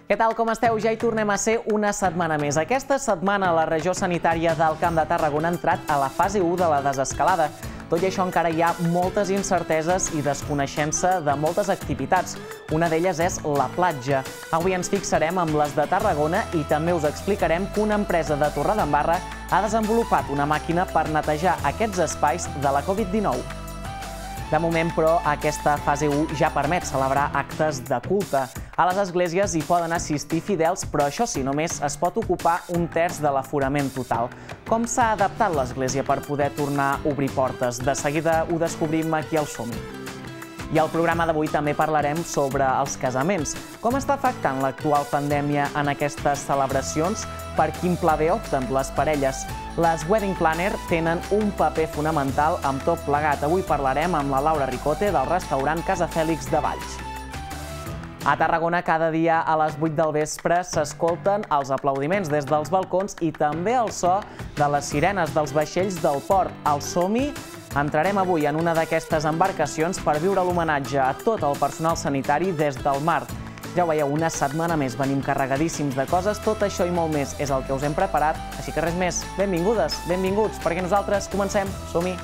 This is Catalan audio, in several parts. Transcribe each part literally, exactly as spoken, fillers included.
Què tal, com esteu? Ja hi tornem a ser una setmana més. Aquesta setmana la regió sanitària del Camp de Tarragona ha entrat a la fase u de la desescalada. Tot i això, encara hi ha moltes incerteses i desconeixença de moltes activitats. Una d'elles és la platja. Avui ens fixarem amb les de Tarragona i també us explicarem que una empresa de Torredembarra ha desenvolupat una màquina per netejar aquests espais de la Covid dinou. De moment, però, aquesta fase u ja permet celebrar actes de culte. A les esglésies hi poden assistir fidels, però això sí, només es pot ocupar un terç de l'aforament total. Com s'ha adaptat l'església per poder tornar a obrir portes? De seguida ho descobrim aquí al Som-hi. I al programa d'avui també parlarem sobre els casaments. Com està afectant l'actual pandèmia en aquestes celebracions? Per quin pla B opten les parelles? Les Wedding Planner tenen un paper fonamental amb tot plegat. Avui parlarem amb la Laura Ricote del restaurant Casa Fèlix de Valls. A Tarragona, cada dia a les vuit del vespre s'escolten els aplaudiments des dels balcons i també el so de les sirenes dels vaixells del port. Al Som-hi entrarem avui en una d'aquestes embarcacions per viure l'homenatge a tot el personal sanitari des del mar. Ja ho veieu, una setmana més venim carregadíssims de coses, tot això i molt més és el que us hem preparat, així que res més, benvingudes, benvinguts, perquè nosaltres comencem, som-hi!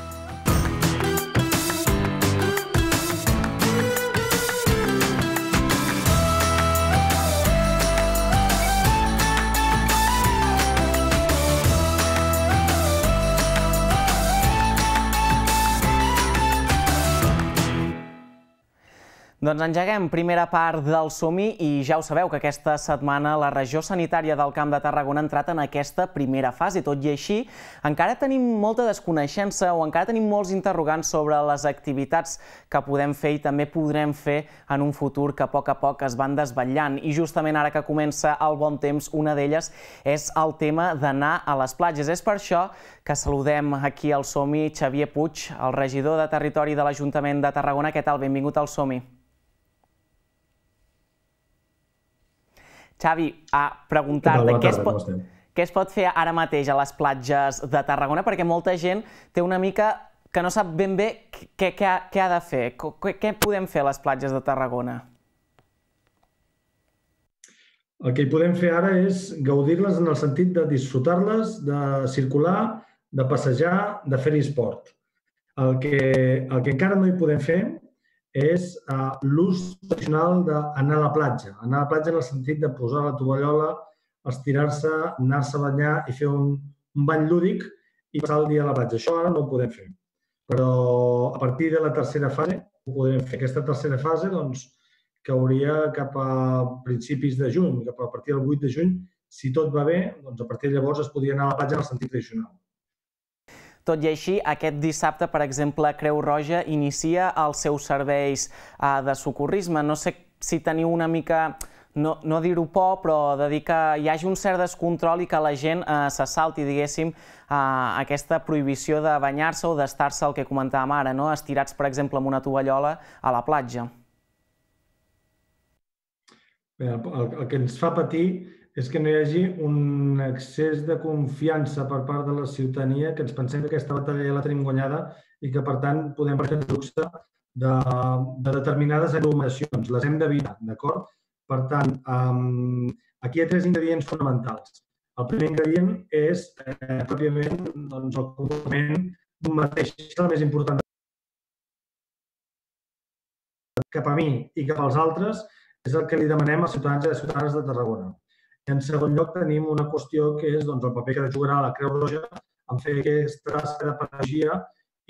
Doncs engeguem primera part del Som-hi i ja ho sabeu que aquesta setmana la regió sanitària del Camp de Tarragona ha entrat en aquesta primera fase. Tot i així, encara tenim molta desconeixença o encara tenim molts interrogants sobre les activitats que podem fer i també podrem fer en un futur que a poc a poc es van desvetllant. I justament ara que comença el bon temps, una d'elles és el tema d'anar a les platges. És per això que saludem aquí al Som-hi Xavier Puig, el regidor de Territori de l'Ajuntament de Tarragona. Què tal? Benvingut al Som-hi. Xavi, a preguntar-te què es pot fer ara mateix a les platges de Tarragona, perquè molta gent té una mica que no sap ben bé què ha de fer. Què podem fer a les platges de Tarragona? El que hi podem fer ara és gaudir-les en el sentit de disfrutar-les, de circular, de passejar, de fer-hi esport. El que encara no hi podem fer és l'ús tradicional d'anar a la platja. Anar a la platja en el sentit de posar la tovallola, estirar-se, anar-se a banyar i fer un bany lúdic i passar el dia a la platja. Això ara no ho podem fer. Però a partir de la tercera fase ho podrem fer. Aquesta tercera fase cauria cap a principis de juny, cap a partir del vuit de juny. Si tot va bé, a partir de llavors es podria anar a la platja en el sentit tradicional. Tot i així, aquest dissabte, per exemple, Creu Roja inicia els seus serveis de socorrisme. No sé si teniu una mica, no dir-ho por, però de dir que hi hagi un cert descontrol i que la gent se salti, diguéssim, aquesta prohibició de banyar-se o d'estar-se, el que comentàvem ara, estirats, per exemple, amb una tovallola a la platja. El que ens fa patir és que no hi hagi un excés de confiança per part de la ciutadania, que ens pensem que aquesta batalla ja la tenim guanyada i que, per tant, podem permetre el luxe de determinades aglomeracions. Les hem d'evitar, d'acord? Per tant, aquí hi ha tres ingredients fonamentals. El primer ingredient és, pròpiament, el comportament d'un mateix. És el més important. Cap a mi i cap als altres és el que li demanem als ciutadans i a les ciutadanes de Tarragona. En segon lloc, tenim una qüestió que és el paper que jugarà la Creu Roja en fer aquesta tasca de pedagogia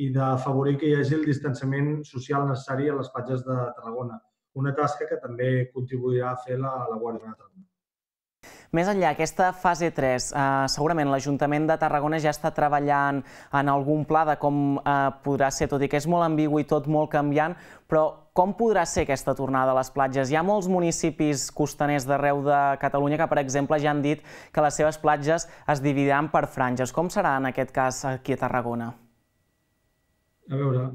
i d'afavorir que hi hagi el distanciament social necessari a les platges de Tarragona. Una tasca que també contribuirà a fer la Guàrdia Urbana de Tarragona. Més enllà, aquesta fase tres, segurament l'Ajuntament de Tarragona ja està treballant en algun pla de com podrà ser, tot i que és molt ambigu i tot molt canviant, però com podrà ser aquesta tornada a les platges? Hi ha molts municipis costaners d'arreu de Catalunya que, per exemple, ja han dit que les seves platges es dividiran per franges. Com serà en aquest cas aquí a Tarragona? A veure,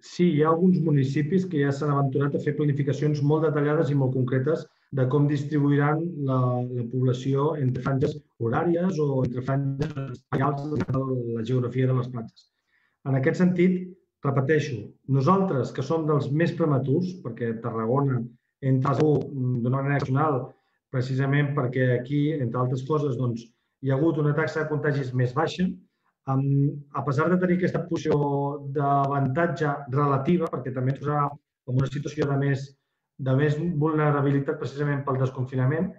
sí, hi ha alguns municipis que ja s'han aventurat a fer planificacions molt detallades i molt concretes de com distribuiran la població entre franges horàries o entre franges espaials de la geografia de les platges. En aquest sentit, repeteixo, nosaltres, que som dels més prematurs, perquè Tarragona entra d'una manera excepcional precisament perquè aquí, entre altres coses, hi ha hagut una taxa de contagis més baixa. A pesar de tenir aquesta posició d'avantatge relativa, perquè també ens posarà en una situació de més, de més vulnerabilitat precisament pel desconfinament,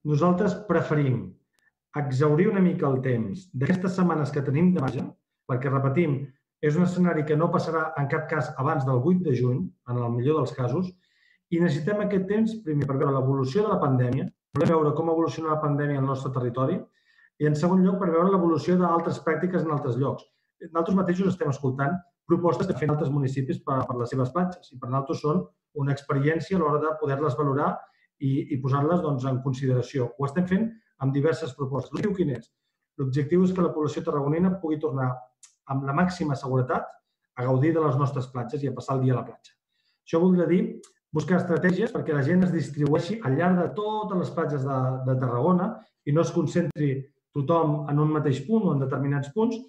nosaltres preferim exhaurir una mica el temps d'aquestes setmanes que tenim de marge, perquè, repetim, és un escenari que no passarà en cap cas abans del vuit de juny, en el millor dels casos, i necessitem aquest temps, primer, per veure l'evolució de la pandèmia, volem veure com evoluciona la pandèmia al nostre territori, i, en segon lloc, per veure l'evolució d'altres pràctiques en altres llocs. Nosaltres mateixos estem escoltant propostes que fan altres municipis per a les seves platges, i per nosaltres són una experiència a l'hora de poder-les valorar i posar-les en consideració. Ho estem fent amb diverses propostes. L'objectiu quin és? L'objectiu és que la població tarragonina pugui tornar amb la màxima seguretat a gaudir de les nostres platges i a passar el dia a la platja. Això voldria dir buscar estratègies perquè la gent es distribueixi al llarg de totes les platges de Tarragona i no es concentri tothom en un mateix punt o en determinats punts,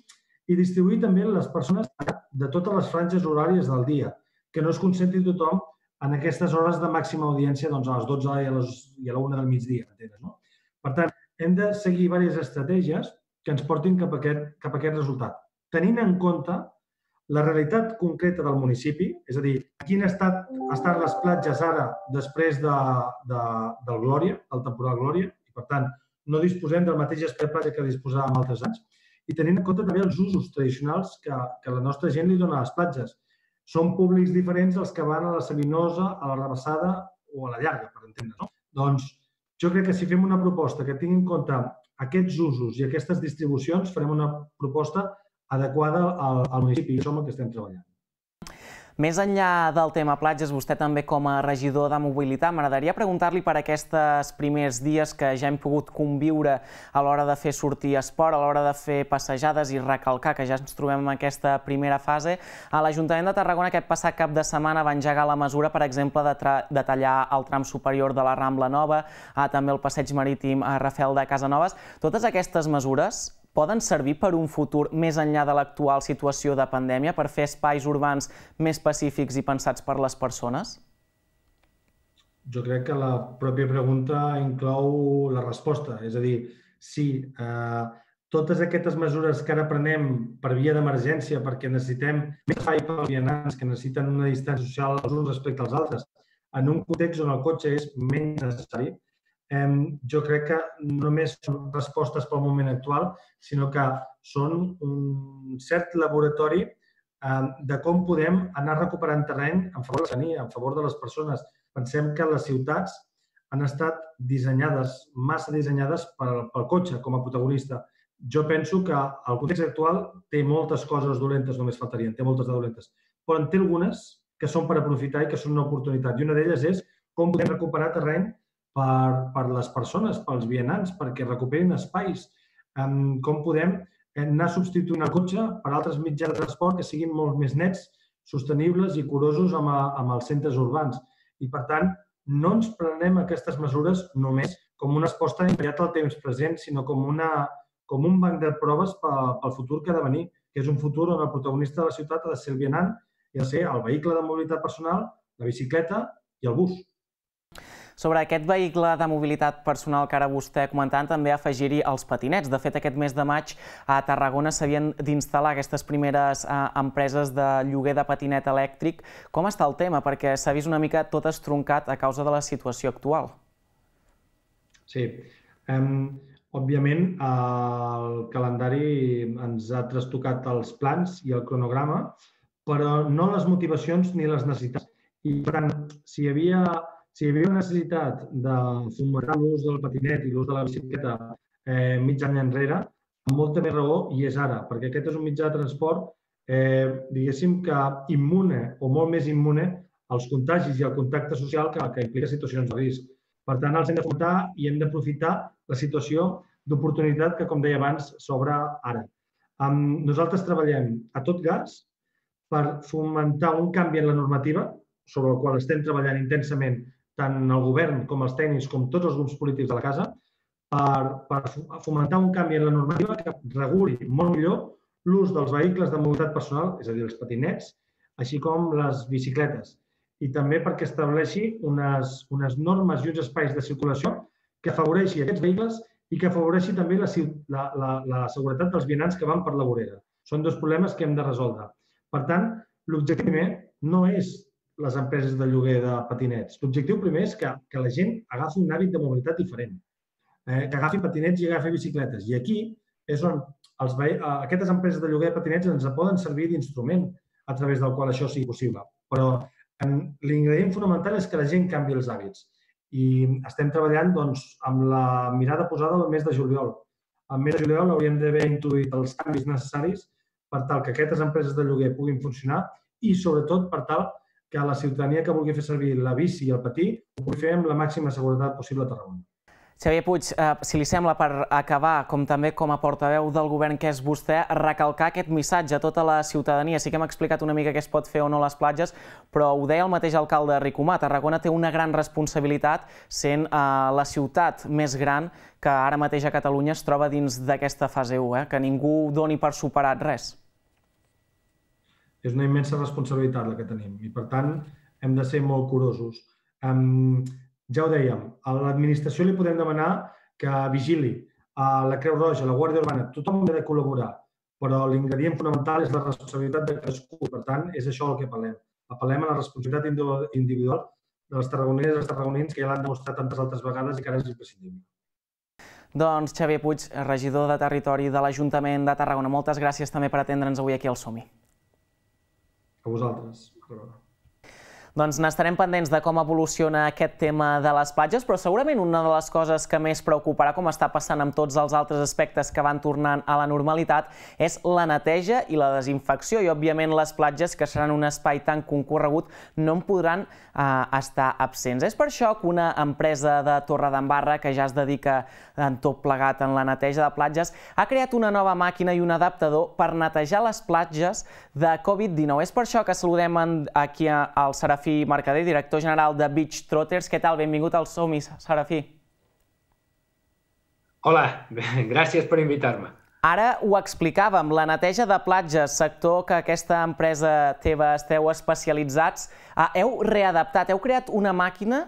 i distribuir també les persones de totes les franges horàries del dia, que no es concentri tothom en aquestes hores de màxima audiència a les dotze i a la una del migdia. Per tant, hem de seguir diverses estratègies que ens portin cap a aquest resultat, tenint en compte la realitat concreta del municipi, és a dir, en quin estat estan les platges ara després del Glòria, del temporal Glòria, i per tant no disposem del mateix espai de platja que disposàvem altres anys, i tenint en compte també els usos tradicionals que la nostra gent li dona a les platges. Són públics diferents els que van a la Sabinosa, a la Rabassada o a la Llarga, per entendre's. Doncs jo crec que si fem una proposta que tingui en compte aquests usos i aquestes distribucions, farem una proposta adequada al municipi, i això és el que estem treballant. Més enllà del tema platges, vostè també com a regidor de mobilitat, m'agradaria preguntar-li per aquests primers dies que ja hem pogut conviure a l'hora de fer sortir esport, a l'hora de fer passejades i recalcar que ja ens trobem en aquesta primera fase. A l'Ajuntament de Tarragona aquest passat cap de setmana va engegar la mesura, per exemple, de tallar el tram superior de la Rambla Nova, també el passeig marítim a Rafel de Casanovas. Totes aquestes mesures poden servir per un futur més enllà de l'actual situació de pandèmia, per fer espais urbans més pacífics i pensats per les persones? Jo crec que la pròpia pregunta inclou la resposta. És a dir, sí, totes aquestes mesures que ara prenem per via d'emergència, perquè necessitem més espai per als vianants, que necessiten una distància social els uns respecte als altres, en un context on el cotxe és menys necessari, jo crec que no només són respostes pel moment actual, sinó que són un cert laboratori de com podem anar recuperant terreny en favor de la ciutadania, en favor de les persones. Pensem que les ciutats han estat dissenyades, massa dissenyades pel cotxe com a protagonista. Jo penso que el context actual té moltes coses dolentes, només faltarien, té moltes de dolentes, però en té algunes que són per aprofitar i que són una oportunitat. I una d'elles és com podem recuperar terreny per les persones, pels vianants, perquè recuperin espais. Com podem anar substituint el cotxe per altres mitjans de transport que siguin molt més nets, sostenibles i curosos amb els centres urbans. I, per tant, no ens prenem aquestes mesures només com una resposta immediata al temps present, sinó com un banc de proves pel futur que ha de venir, que és un futur on el protagonista de la ciutat ha de ser el vianant i ha de ser el vehicle de mobilitat personal, la bicicleta i el bus. Sobre aquest vehicle de mobilitat personal que ara vostè comentava, també afegir-hi els patinets. De fet, aquest mes de maig a Tarragona s'havien d'instal·lar aquestes primeres empreses de lloguer de patinet elèctric. Com està el tema? Perquè s'ha vist una mica tot estroncat a causa de la situació actual. Sí. Òbviament, el calendari ens ha trastocat els plans i el cronograma, però no les motivacions ni les necessitats. I, per tant, si hi havia... Si hi havia una necessitat de fomentar l'ús del patinet i l'ús de la bicicleta mig any enrere, amb molta més raó hi és ara, perquè aquest és un mitjà de transport, diguéssim que immune o molt més immune als contagis i al contacte social que implica situacions de risc. Per tant, els hem de fomentar i hem d'aprofitar la situació d'oportunitat que, com deia abans, s'obre ara. Nosaltres treballem a tot gas per fomentar un canvi en la normativa, sobre el qual estem treballant intensament tant el govern com els tècnics com tots els grups polítics de la casa, per fomentar un canvi en la normativa que reguli molt millor l'ús dels vehicles de mobilitat personal, és a dir, els patinets, així com les bicicletes. i també perquè estableixi unes, unes normes i uns espais de circulació que afavoreixi aquests vehicles i que afavoreixi també la, la, la, la seguretat dels vianants que van per la vorera. Són dos problemes que hem de resoldre. Per tant, l'objectiu primer no és les empreses de lloguer de patinets. L'objectiu primer és que, que la gent agafi un hàbit de mobilitat diferent, eh, que agafi patinets i agafi bicicletes. I aquí és on els, aquestes empreses de lloguer de patinets ens poden servir d'instrument a través del qual això sigui possible. Però l'ingredient fonamental és que la gent canvi els hàbits. I estem treballant doncs, amb la mirada posada al mes de juliol. Al mes de juliol hauríem d'haver introduït els canvis necessaris per tal que aquestes empreses de lloguer puguin funcionar i, sobretot, per tal que la ciutadania que vulgui fer servir la bici i el patí ho pugui fer amb la màxima seguretat possible a Tarragona. Xavier Puig, si li sembla, per acabar, com també com a portaveu del govern que és vostè, recalcar aquest missatge a tota la ciutadania. Sí que hem explicat una mica què es pot fer o no a les platges, però ho deia el mateix alcalde Ricomà. Tarragona té una gran responsabilitat sent la ciutat més gran que ara mateix a Catalunya es troba dins d'aquesta fase u, que ningú doni per superat res. És una immensa responsabilitat la que tenim i, per tant, hem de ser molt curosos. Ja ho dèiem, a l'administració li podem demanar que vigili, a la Creu Roja, a la Guàrdia Urbana, tothom ha de col·laborar, però l'ingredient fonamental és la responsabilitat de cadascú. Per tant, és això el que apel·lem. Apel·lem a la responsabilitat individual de les tarragonines i els tarragonins que ja l'han demostrat tantes altres vegades i que ara és imprescindible. Doncs Xavier Puig, regidor de Territori de l'Ajuntament de Tarragona, moltes gràcies també per atendre'ns avui aquí al Som-hi. A vosaltres. Doncs n'estarem pendents de com evoluciona aquest tema de les platges, però segurament una de les coses que més preocuparà, com està passant amb tots els altres aspectes que van tornant a la normalitat, és la neteja i la desinfecció. I, òbviament, les platges, que seran un espai tan concorregut, no en podran estar absents. És per això que una empresa de Torredembarra, que ja es dedica en tot plegat en la neteja de platges, ha creat una nova màquina i un adaptador per netejar les platges de Covid dinou. És per això que saludem aquí al Serafí Mercader, director general de Beach Trotters. Què tal? Benvingut al Som-hi, Serafí. Hola, gràcies per invitar-me. Ara ho explicàvem, la neteja de platges, sector que aquesta empresa teva esteu especialitzats, heu readaptat, heu creat una màquina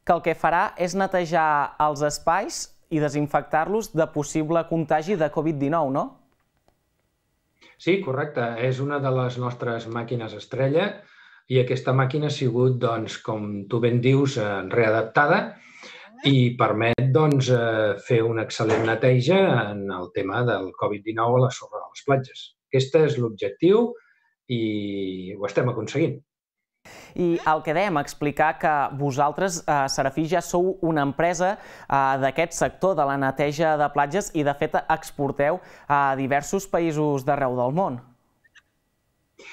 que el que farà és netejar els espais i desinfectar-los de possible contagi de Covid dinou, no? Sí, correcte. És una de les nostres màquines estrella i aquesta màquina ha sigut, doncs, com tu ben dius, readaptada i permet doncs, fer una excel·lent neteja en el tema del Covid dinou a la sorra de les platges. Aquest és l'objectiu i ho estem aconseguint. I el que dèiem, explicar que vosaltres, Serafí, ja sou una empresa d'aquest sector de la neteja de platges i, de fet, exporteu a diversos països d'arreu del món.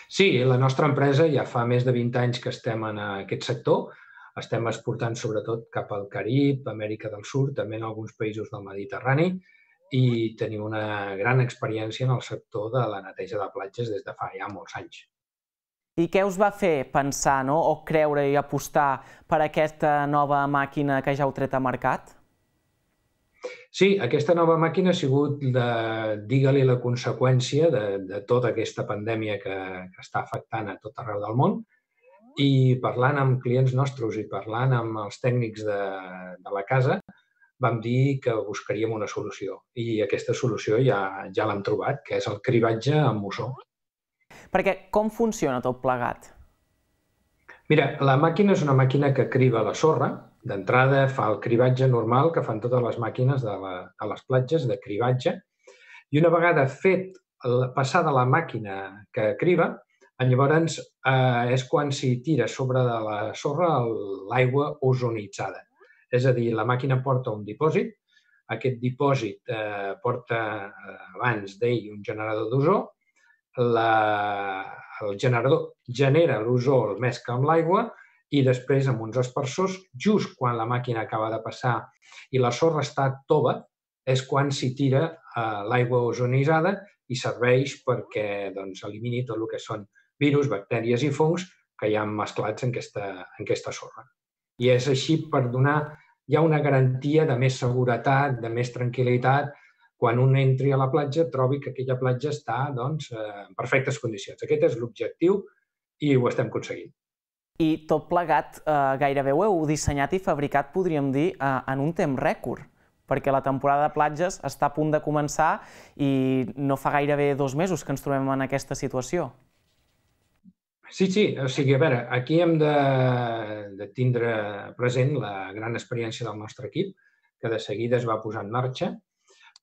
Sí, la nostra empresa ja fa més de vint anys que estem en aquest sector. Estem exportant sobretot cap al Carib, Amèrica del Sud, també en alguns països del Mediterrani i tenim una gran experiència en el sector de la neteja de platges des de fa ja molts anys. I què us va fer pensar o creure i apostar per aquesta nova màquina que ja heu tret a mercat? Sí, aquesta nova màquina ha sigut, digue-li, la conseqüència de tota aquesta pandèmia que està afectant a tot arreu del món i parlant amb clients nostres i parlant amb els tècnics de la casa vam dir que buscaríem una solució i aquesta solució ja l'hem trobat, que és el cribatge amb mussó. Perquè com funciona tot plegat? Mira, la màquina és una màquina que criba la sorra. D'entrada fa el cribatge normal que fan totes les màquines de les platges, de cribatge. I una vegada fet passada la màquina que criba, llavors és quan s'hi tira sobre de la sorra l'aigua ozonitzada. És a dir, la màquina porta un dipòsit. Aquest dipòsit porta abans d'ell un generador d'ozó. El generador genera l'ozó, el mescla amb l'aigua i després amb uns aspersors, just quan la màquina acaba de passar i la sorra està tova, és quan s'hi tira l'aigua ozonitzada i serveix perquè elimini tot el que són virus, bactèries i fongs que hi ha mesclats en aquesta sorra. I és així per donar ja una garantia de més seguretat, de més tranquil·litat, quan un entri a la platja trobi que aquella platja està en perfectes condicions. Aquest és l'objectiu i ho estem aconseguint. I tot plegat gairebé ho heu dissenyat i fabricat, podríem dir, en un temps rècord, perquè la temporada de platges està a punt de començar i no fa gairebé dos mesos que ens trobem en aquesta situació. Sí, sí, o sigui, a veure, aquí hem de tindre present la gran experiència del nostre equip, que de seguida es va posar en marxa.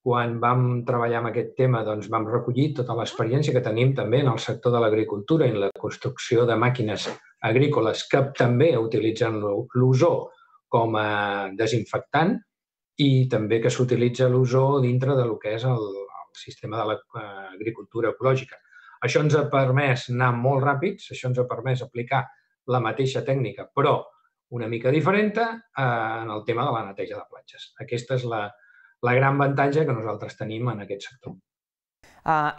Quan vam treballar amb aquest tema, doncs vam recollir tota l'experiència que tenim també en el sector de l'agricultura i la construcció de màquines agrícoles que també utilitzen l'ozó com a desinfectant i també que s'utilitza l'ozó dintre del que és el sistema de l'agricultura ecològica. Això ens ha permès anar molt ràpids, això ens ha permès aplicar la mateixa tècnica, però una mica diferent en el tema de la neteja de platges. Aquesta és la la gran avantatge que nosaltres tenim en aquest sector.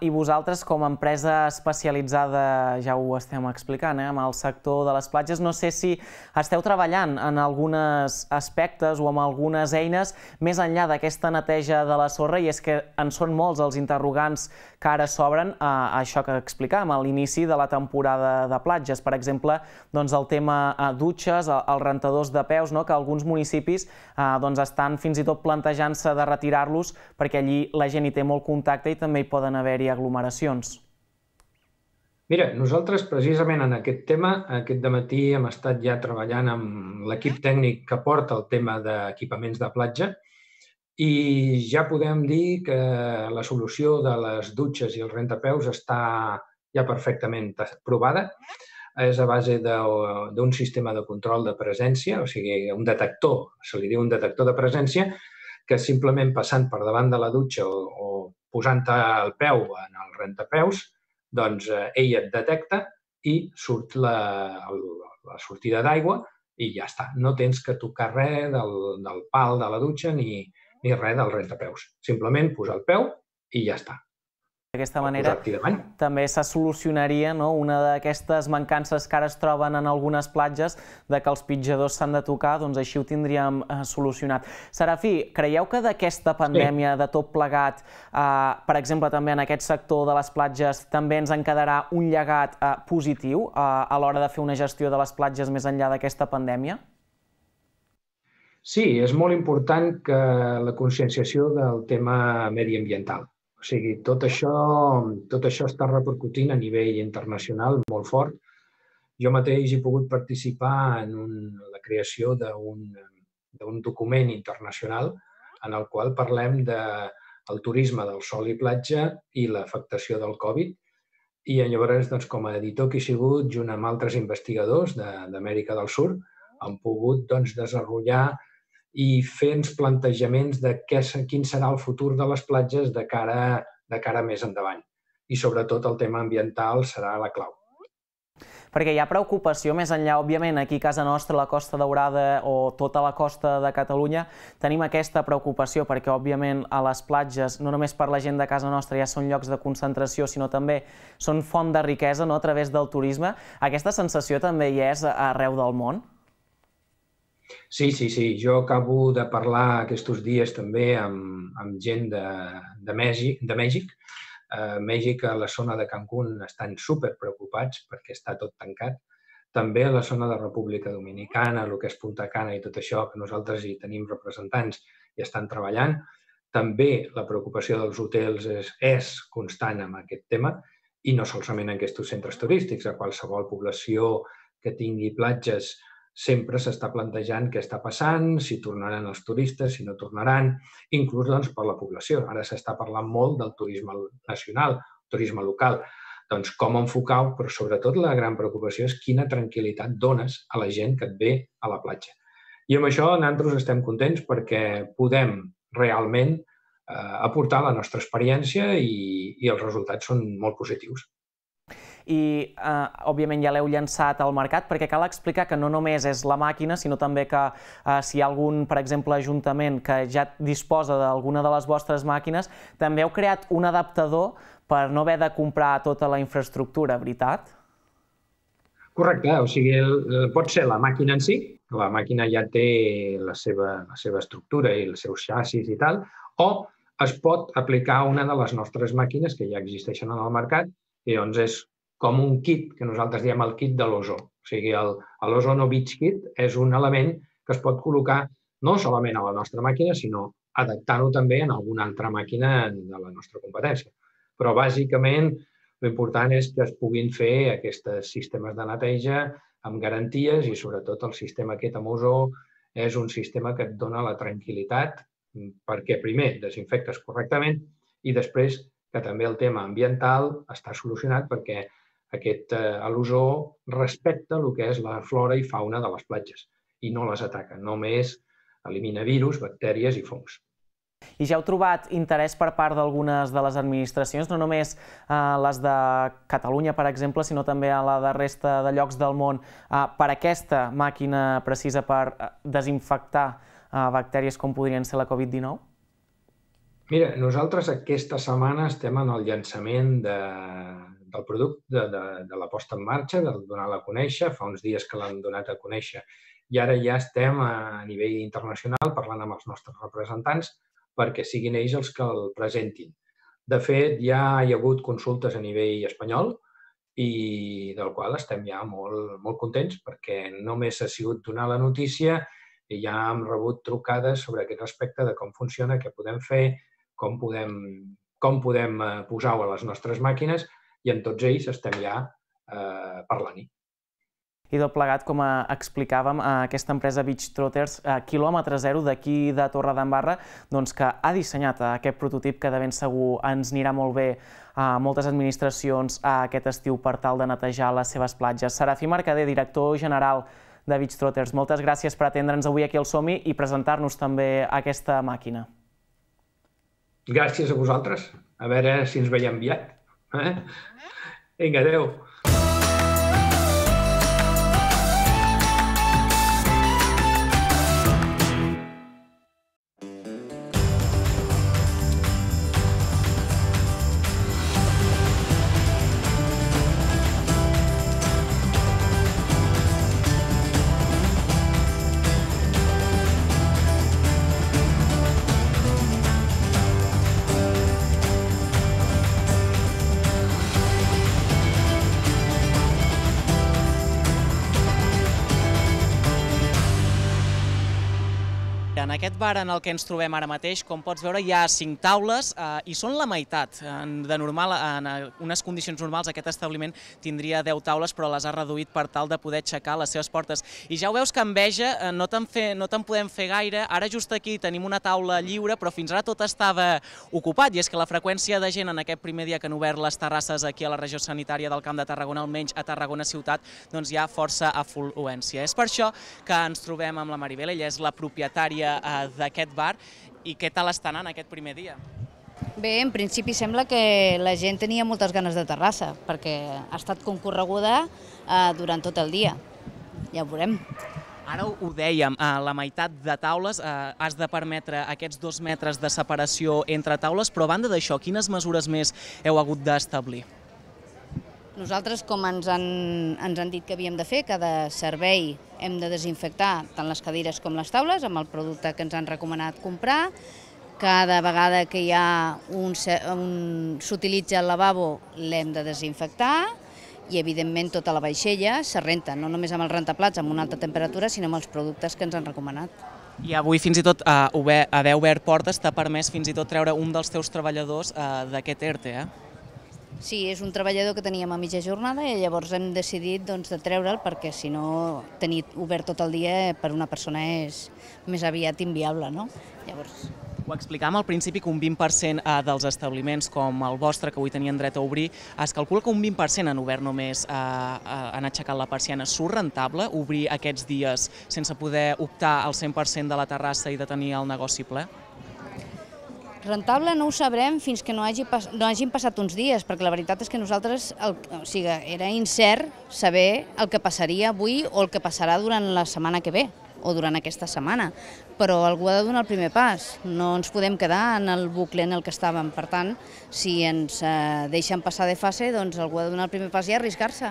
I vosaltres, com a empresa especialitzada, ja ho estem explicant, amb el sector de les platges, no sé si esteu treballant en alguns aspectes o amb algunes eines més enllà d'aquesta neteja de la sorra, i és que en són molts els interrogants que ara s'obren a això que explicàvem, a l'inici de la temporada de platges. Per exemple, el tema dutxes, els rentadors de peus, que alguns municipis estan fins i tot plantejant-se de retirar-los perquè allí la gent hi té molt contacte i també hi poden haver-hi aglomeracions. Mira, nosaltres precisament en aquest tema, aquest dematí hem estat ja treballant amb l'equip tècnic que porta el tema d'equipaments de platja i ja podem dir que la solució de les dutxes i els rentapeus està ja perfectament provada. És a base d'un sistema de control de presència, o sigui, un detector, se li diu un detector de presència, que simplement passant per davant de la dutxa o posant el peu en el rentapeus, doncs ell et detecta i surt la sortida d'aigua i ja està. No tens que tocar res del pal de la dutxa ni res del rentapeus. Simplement posar el peu i ja està. D'aquesta manera també se solucionaria una d'aquestes mancances que ara es troben en algunes platges, de que els pitjadors s'han de tocar, doncs així ho tindríem solucionat. Serafí, creieu que d'aquesta pandèmia, de tot plegat, per exemple també en aquest sector de les platges, també ens en quedarà un llegat positiu a l'hora de fer una gestió de les platges més enllà d'aquesta pandèmia? Sí, és molt important que la conscienciació del tema mediambiental. O sigui, tot això està repercutint a nivell internacional molt fort. Jo mateix he pogut participar en la creació d'un document internacional en el qual parlem del turisme del sol i platja i l'afectació del Covid. I llavors, com a editor que he sigut, junt amb altres investigadors d'Amèrica del Sud, hem pogut desenvolupar i fer uns plantejaments de quin serà el futur de les platges de cara més endavant. I sobretot el tema ambiental serà la clau. Perquè hi ha preocupació més enllà, òbviament, aquí a casa nostra, a la Costa Daurada o tota la costa de Catalunya, tenim aquesta preocupació perquè, òbviament, a les platges, no només per la gent de casa nostra ja són llocs de concentració, sinó també són font de riquesa a través del turisme. Aquesta sensació també hi és arreu del món? Sí, sí, sí. Jo acabo de parlar aquests dies també amb gent de Mèxic. A Mèxic, a la zona de Cancún, estan superpreocupats perquè està tot tancat. També a la zona de República Dominicana, el que és Punta Cana i tot això, que nosaltres hi tenim representants i estan treballant. També la preocupació dels hotels és constant amb aquest tema i no solament en aquests centres turístics. A qualsevol població que tingui platges sempre s'està plantejant què està passant, si tornaran els turistes, si no tornaran, inclús per la població. Ara s'està parlant molt del turisme nacional, turisme local. Doncs com enfocar-ho, però sobretot la gran preocupació és quina tranquil·litat dones a la gent que et ve a la platja. I amb això nosaltres estem contents perquè podem realment aportar la nostra experiència i els resultats són molt positius. I, òbviament, ja l'heu llançat al mercat, perquè cal explicar que no només és la màquina, sinó també que si hi ha algun, per exemple, ajuntament que ja disposa d'alguna de les vostres màquines, també heu creat un adaptador per no haver de comprar tota la infraestructura, veritat? Correcte, o sigui, pot ser la màquina en si, la màquina ja té la seva estructura i els seus xassis i tal, o es pot aplicar una de les nostres màquines que ja existeixen en el mercat i doncs és com un kit, que nosaltres diem el kit de l'ozó. O sigui, l'Ozono Beach Kit és un element que es pot col·locar no solament a la nostra màquina, sinó adaptant-ho també en alguna altra màquina de la nostra competència. Però, bàsicament, l'important és que es puguin fer aquests sistemes de neteja amb garanties i, sobretot, el sistema aquest amb ozó és un sistema que et dona la tranquil·litat perquè, primer, desinfectes correctament i després que també el tema ambiental està solucionat perquè l'ozó respecta el que és la flora i fauna de les platges i no les ataca, només elimina virus, bactèries i fongs. I ja heu trobat interès per part d'algunes de les administracions, no només les de Catalunya, per exemple, sinó també a la de resta de llocs del món, per aquesta màquina precisa per desinfectar bactèries com podrien ser la Covid dinou? Mira, nosaltres aquesta setmana estem en el llançament del producte, de la posta en marxa, de donar-la a conèixer. Fa uns dies que l'han donat a conèixer i ara ja estem a nivell internacional parlant amb els nostres representants perquè siguin ells els que el presentin. De fet, ja hi ha hagut consultes a nivell espanyol i del qual estem ja molt contents perquè només ha sigut donar la notícia i ja hem rebut trucades sobre aquest aspecte de com funciona, què podem fer, com podem posar-ho a les nostres màquines i amb tots ells estem ja parlant-hi. I tot plegat, com explicàvem, aquesta empresa Beach Trotters, quilòmetre zero d'aquí de Torredembarra, que ha dissenyat aquest prototip que de ben segur ens anirà molt bé a moltes administracions aquest estiu per tal de netejar les seves platges. Serafí Mercader, director general de Beach Trotters, moltes gràcies per atendre'ns avui aquí al Som-hi i presentar-nos també aquesta màquina. Gràcies a vosaltres. A veure si ens veiem aviat. Vinga, adéu. En aquest bar en el que ens trobem ara mateix, com pots veure, hi ha cinc taules i són la meitat. De normal, en unes condicions normals, aquest establiment tindria deu taules, però les ha reduït per tal de poder aixecar les seves portes. I ja ho veus que enveja, no te'n podem fer gaire. Ara just aquí tenim una taula lliure, però fins ara tot estava ocupat. I és que la freqüència de gent en aquest primer dia que han obert les terrasses aquí a la regió sanitària del Camp de Tarragona, almenys a Tarragona ciutat, doncs hi ha força afluència. És per això que ens trobem amb la Maribel, ella és la propietària d'aquest bar. I què tal està anant aquest primer dia? Bé, en principi sembla que la gent tenia moltes ganes de terrassa, perquè ha estat concorreguda durant tot el dia. Ja ho veurem. Ara ho dèiem, la meitat de taules, has de permetre aquests dos metres de separació entre taules, però a banda d'això, quines mesures més heu hagut d'establir? Nosaltres, com ens han dit que havíem de fer, cada servei hem de desinfectar tant les cadires com les taules amb el producte que ens han recomanat comprar. Cada vegada que hi ha s'utilitza el lavabo l'hem de desinfectar i, evidentment, tota la vaixella se renta, no només amb els rentaplats amb una alta temperatura, sinó amb els productes que ens han recomanat. I avui, fins i tot, haver obert portes t'ha permès fins i tot treure un dels teus treballadors d'aquest ERTE, eh? Sí, és un treballador que teníem a mitja jornada i llavors hem decidit de treure'l perquè, si no, tenir obert tot el dia per una persona és més aviat inviable, no? Llavors... Ho explicàvem al principi que un vint per cent dels establiments com el vostre, que avui tenien dret a obrir, es calcula que un vint per cent han obert només, han aixecat la persiana. Surt rentable obrir aquests dies sense poder optar al cent per cent de la terrassa i de tenir el negoci ple? Rentable no ho sabrem fins que no hagin passat uns dies, perquè la veritat és que nosaltres, o sigui, era incert saber el que passaria avui o el que passarà durant la setmana que ve, o durant aquesta setmana, però algú ha de donar el primer pas, no ens podem quedar en el bucle en el que estàvem. Per tant, si ens deixen passar de fase, doncs algú ha de donar el primer pas i arriscar-se.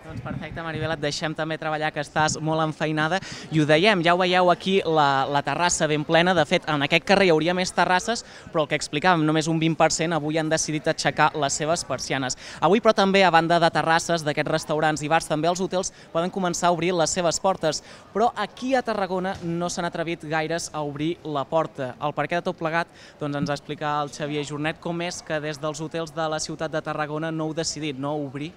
Doncs perfecte, Maribel, et deixem també treballar, que estàs molt enfeinada. I ho dèiem, ja ho veieu aquí, la, la terrassa ben plena. De fet, en aquest carrer hi hauria més terrasses, però el que explicàvem, només un vint per cent avui han decidit aixecar les seves persianes. Avui, però també, a banda de terrasses, d'aquests restaurants i bars, també els hotels poden començar a obrir les seves portes. Però aquí a Tarragona no s'han atrevit gaires a obrir la porta. El perquè de tot plegat, doncs ens explica el Xavier Jornet com és que des dels hotels de la ciutat de Tarragona no heu decidit no obrir.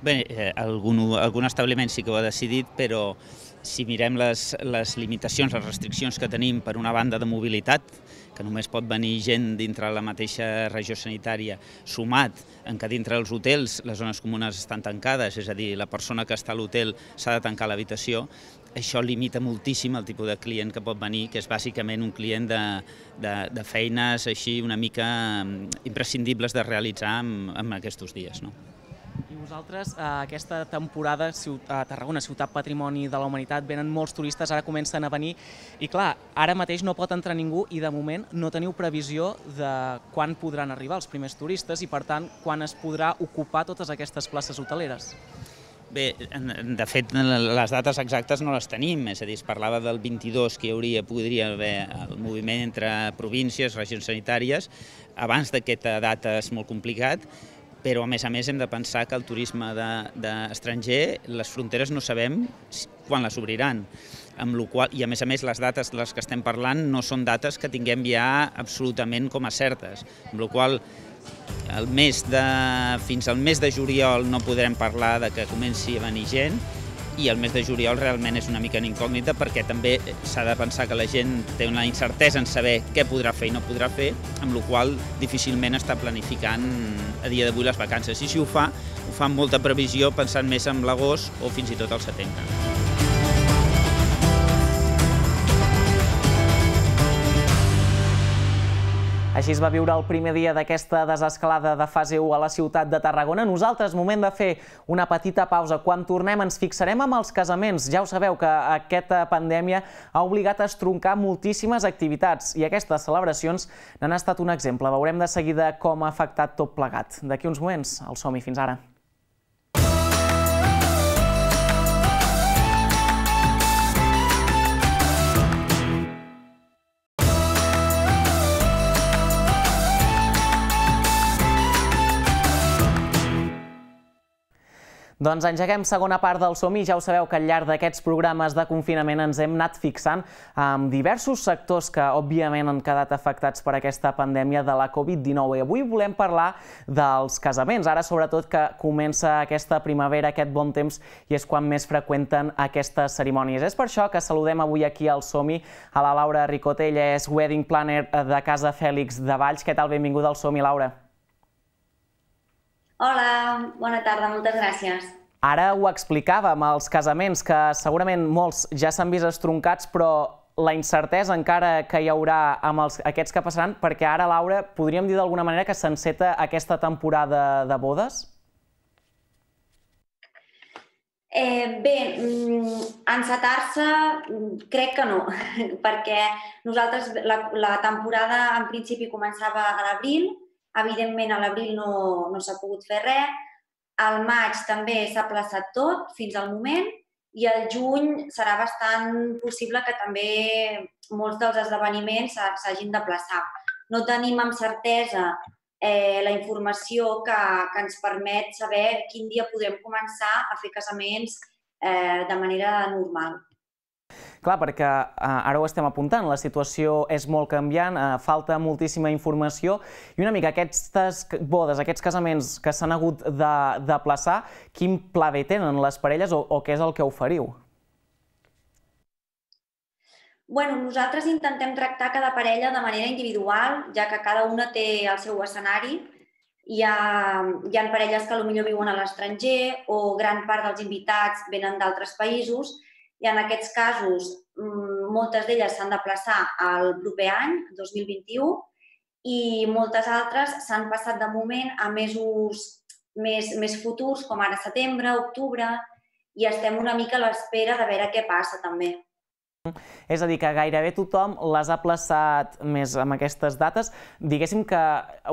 Bé, eh, algun, algun establiment sí que ho ha decidit, però si mirem les, les limitacions, les restriccions que tenim per una banda de mobilitat, que només pot venir gent dintre la mateixa regió sanitària, sumat en que dintre dels hotels les zones comunes estan tancades, és a dir, la persona que està a l'hotel s'ha de tancar l'habitació, això limita moltíssim el tipus de client que pot venir, que és bàsicament un client de, de, de feines així una mica imprescindibles de realitzar en, en aquests dies, no? I vosaltres, aquesta temporada a Tarragona, Ciutat Patrimoni de la Humanitat, venen molts turistes, ara comencen a venir, i clar, ara mateix no pot entrar ningú i de moment no teniu previsió de quan podran arribar els primers turistes i per tant quan es podrà ocupar totes aquestes places hoteleres. Bé, de fet, les dates exactes no les tenim, és a dir, es parlava del vint-i-dos que hi hauria, podria haver el moviment entre províncies, regions sanitàries, abans d'aquesta data és molt complicat, però a més a més hem de pensar que el turisme d'estranger, les fronteres no sabem quan les obriran, amb la qual, i a més a més les dates de les que estem parlant no són dates que tinguem ja absolutament com a certes, amb la qual el mes de, fins al mes de juliol no podrem parlar de que comenci a venir gent, i el mes de juliol realment és una mica en incògnita perquè també s'ha de pensar que la gent té una incertesa en saber què podrà fer i no podrà fer, amb la qual difícilment està planificant a dia d'avui les vacances. I si ho fa, ho fa amb molta previsió pensant més en l'agost o fins i tot al setembre. Així es va viure el primer dia d'aquesta desescalada de fase u a la ciutat de Tarragona. Nosaltres, moment de fer una petita pausa. Quan tornem ens fixarem amb els casaments. Ja ho sabeu que aquesta pandèmia ha obligat a estroncar moltíssimes activitats i aquestes celebracions n'han estat un exemple. Veurem de seguida com ha afectat tot plegat. D'aquí uns moments, el som-hi. Fins ara. Doncs engeguem segona part del Som-hi. Ja ho sabeu que al llarg d'aquests programes de confinament ens hem anat fixant amb diversos sectors que, òbviament, han quedat afectats per aquesta pandèmia de la Covid dinou. I avui volem parlar dels casaments. Ara, sobretot, que comença aquesta primavera, aquest bon temps, i és quan més freqüenten aquestes cerimònies. És per això que saludem avui aquí al Som-hi a la Laura Ricota. Ella és Wedding Planner de Casa Fèlix de Valls. Què tal? Benvinguda al Som-hi, Laura. Hola, bona tarda, moltes gràcies. Ara ho explicàvem, els casaments, que segurament molts ja s'han vist estroncats, però la incertesa encara que hi haurà amb els, aquests que passaran, perquè ara, Laura, podríem dir d'alguna manera que s'enceta aquesta temporada de bodes? Eh, bé, encetar-se crec que no, perquè nosaltres la, la temporada en principi començava a l'abril, evidentment a l'abril no, no s'ha pogut fer res, al maig també s'ha aplaçat tot fins al moment i al juny serà bastant possible que també molts dels esdeveniments s'hagin d'aplaçar. No tenim amb certesa eh, la informació que, que ens permet saber quin dia podrem començar a fer casaments eh, de manera normal. Clar, perquè ara ho estem apuntant, la situació és molt canviant, falta moltíssima informació i una mica aquestes bodes, aquests casaments que s'han hagut d'aplaçar, quin pla B tenen les parelles o, o què és el que oferiu? Bueno, nosaltres intentem tractar cada parella de manera individual, ja que cada una té el seu escenari. Hi ha, hi ha parelles que potser viuen a l'estranger o gran part dels invitats venen d'altres països. I en aquests casos, moltes d'elles s'han d'aplaçar al proper any, dos mil vint-i-u, i moltes altres s'han passat de moment a mesos més, més futurs, com ara setembre, octubre, i estem una mica a l'espera de veure què passa també. És a dir, que gairebé tothom les ha plaçat més amb aquestes dates. Diguéssim que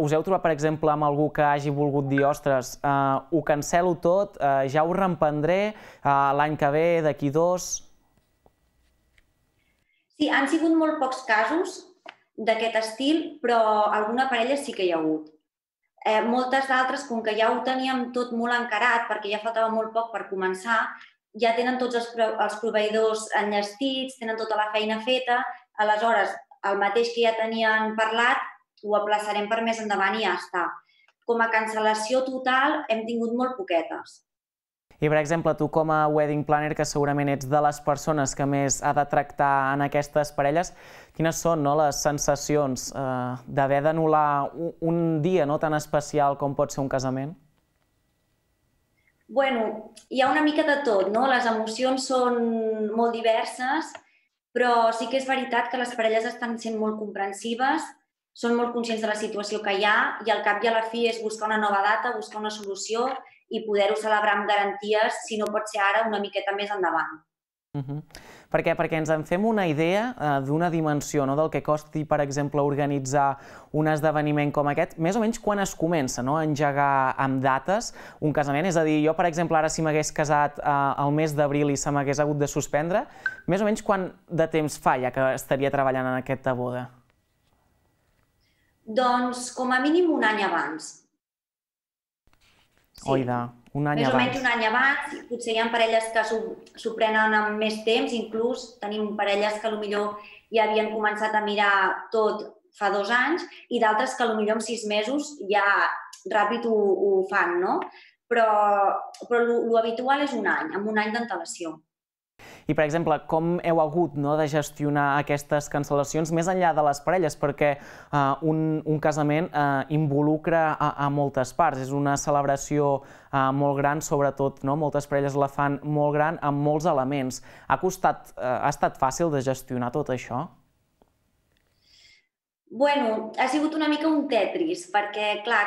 us heu trobat, per exemple, amb algú que hagi volgut dir ostres, ho cancelo tot, ja ho reemprendré l'any que ve, d'aquí dos... Sí, han sigut molt pocs casos d'aquest estil, però alguna parella sí que hi ha hagut. Moltes d'altres, com que ja ho teníem tot molt encarat, perquè ja faltava molt poc per començar, ja tenen tots els proveïdors enllestits, tenen tota la feina feta, aleshores el mateix que ja tenien parlat ho aplaçarem per més endavant i ja està. Com a cancel·lació total hem tingut molt poquetes. I, per exemple, tu com a wedding planner, que segurament ets de les persones que més ha de tractar en aquestes parelles, quines són les sensacions d'haver d'anul·lar un dia tan especial com pot ser un casament? Bueno, hi ha una mica de tot, no? Les emocions són molt diverses, però sí que és veritat que les parelles estan sent molt comprensives, són molt conscients de la situació que hi ha i al cap i a la fi és buscar una nova data, buscar una solució i poder-ho celebrar amb garanties, si no pot ser ara, una miqueta més endavant. Per què? Perquè ens en fem una idea d'una dimensió del que costi, per exemple, organitzar un esdeveniment com aquest, més o menys quan es comença a engegar amb dates un casament. És a dir, jo, per exemple, ara si m'hagués casat al mes d'abril i se m'hagués hagut de suspendre, més o menys quant de temps fa ja que estaria treballant en aquesta boda? Doncs com a mínim un any abans. Oida, un any abans. Més o menys un any abans, potser hi ha parelles que s'ho prenen amb més temps, inclús tenim parelles que potser ja havien començat a mirar tot fa dos anys i d'altres que potser en sis mesos ja ràpid ho fan, no? Però l'habitual és un any, amb un any d'antelació. I, per exemple, com heu hagut de gestionar aquestes cancel·lacions més enllà de les parelles? Perquè un casament involucra a moltes parts. És una celebració molt gran, sobretot moltes parelles la fan molt gran, amb molts elements. Ha estat fàcil de gestionar tot això? Bueno, ha sigut una mica un Tetris, perquè, clar,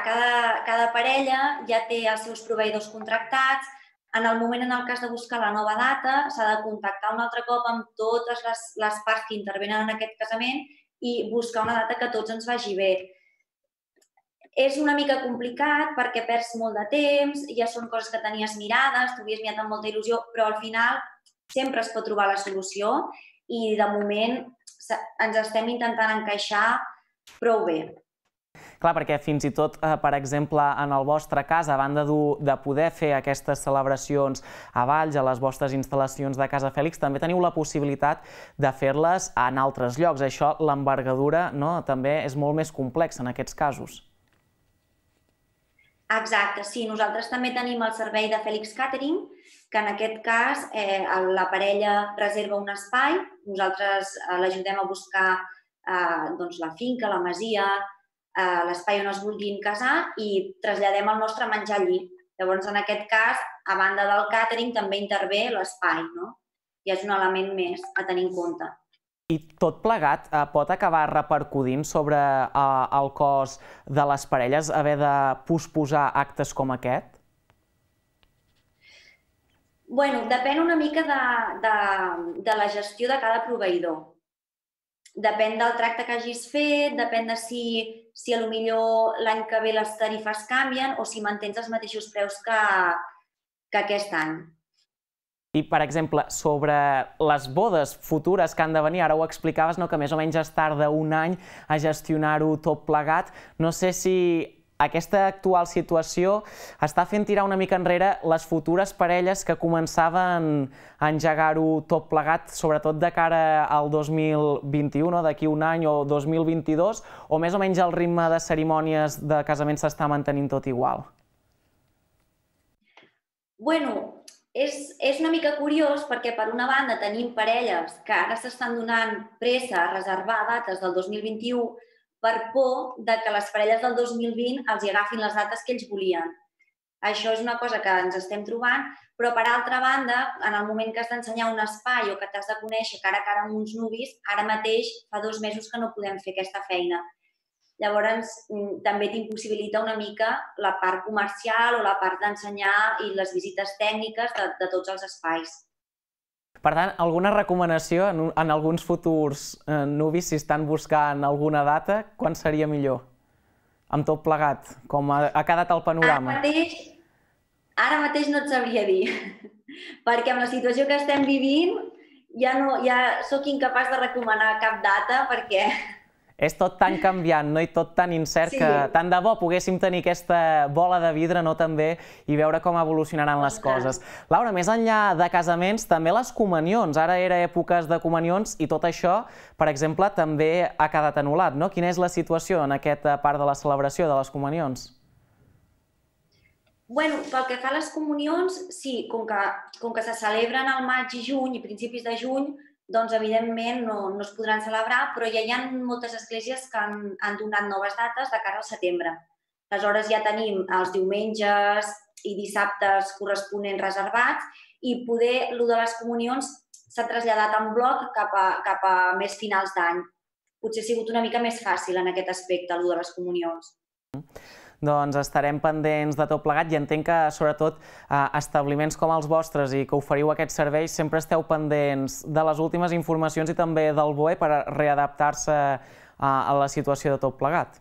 cada parella ja té els seus proveïdors contractats. En el moment en el cas de buscar la nova data, s'ha de contactar un altre cop amb totes les parts que intervenen en aquest casament i buscar una data que a tots ens vagi bé. És una mica complicat perquè perds molt de temps, ja són coses que tenies mirades, t'ho havies mirat amb molta il·lusió, però al final sempre es pot trobar la solució i de moment ens estem intentant encaixar prou bé. Clar, perquè fins i tot, per exemple, en el vostre cas, a banda de poder fer aquestes celebracions a Valls, a les vostres instal·lacions de Casa Fèlix, també teniu la possibilitat de fer-les en altres llocs. Això, l'envergadura, també és molt més complexa en aquests casos. Exacte, sí. Nosaltres també tenim el servei de Fèlix Catering, que en aquest cas la parella reserva un espai, nosaltres l'ajudem a buscar la finca, la masia, l'espai on es vulguin casar i traslladem el nostre menjar allí. Llavors, en aquest cas, a banda del càtering, també intervé l'espai, no? I és un element més a tenir en compte. I tot plegat pot acabar repercutint sobre el cost de les parelles haver de posposar actes com aquest? Bueno, depèn una mica de la gestió de cada proveïdor. Depèn del tracte que hagis fet, depèn de si potser l'any que ve les tarifes canvien o si mantens els mateixos preus que aquest any. I, per exemple, sobre les bodes futures que han de venir, ara ho explicaves, que més o menys es tarda un any a gestionar-ho tot plegat. No sé si aquesta actual situació està fent tirar una mica enrere les futures parelles que començaven a engegar-ho tot plegat, sobretot de cara al dos mil vint-i-u, d'aquí un any o dos mil vint-i-dos, o més o menys el ritme de cerimònies de casament s'està mantenint tot igual? Bueno, és una mica curiós perquè, per una banda, tenim parelles que ara s'estan donant pressa a reservar dates del dos mil vint-i-u per por que les parelles del dos mil vint els hi agafin les dates que ells volien. Això és una cosa que ens estem trobant, però per altra banda, en el moment que has d'ensenyar un espai o que t'has de conèixer cara a cara amb uns nuvis, ara mateix fa dos mesos que no podem fer aquesta feina. Llavors, també t'impossibilita una mica la part comercial o la part d'ensenyar i les visites tècniques de tots els espais. Per tant, alguna recomanació en alguns futurs nuvis, si estan buscant alguna data, quan seria millor? Amb tot plegat, com ha quedat el panorama? Ara mateix, ara mateix no et sabria dir, perquè amb la situació que estem vivint ja, no, ja soc incapaç de recomanar cap data perquè... És tot tan canviant, no? I tot tan incert que tant de bo poguéssim tenir aquesta bola de vidre, no, també, i veure com evolucionaran les coses. Laura, més enllà de casaments, també les comunions. Ara era èpoques de comunions i tot això, per exemple, també ha quedat anul·lat, no? Quina és la situació en aquesta part de la celebració de les comunions? Bueno, pel que fa a les comunions, sí, com que, com que se celebren al maig i juny i principis de juny, doncs evidentment no, no es podran celebrar, però ja hi ha moltes esglésies que han, han donat noves dates de cara al setembre. Aleshores ja tenim els diumenges i dissabtes corresponents reservats i poder, el de les comunions s'ha traslladat en bloc cap a, cap a més finals d'any. Potser ha sigut una mica més fàcil en aquest aspecte, el de les comunions. Doncs estarem pendents de tot plegat i entenc que, sobretot, establiments com els vostres i que oferiu aquests serveis sempre esteu pendents de les últimes informacions i també del B O E per readaptar-se a la situació de tot plegat.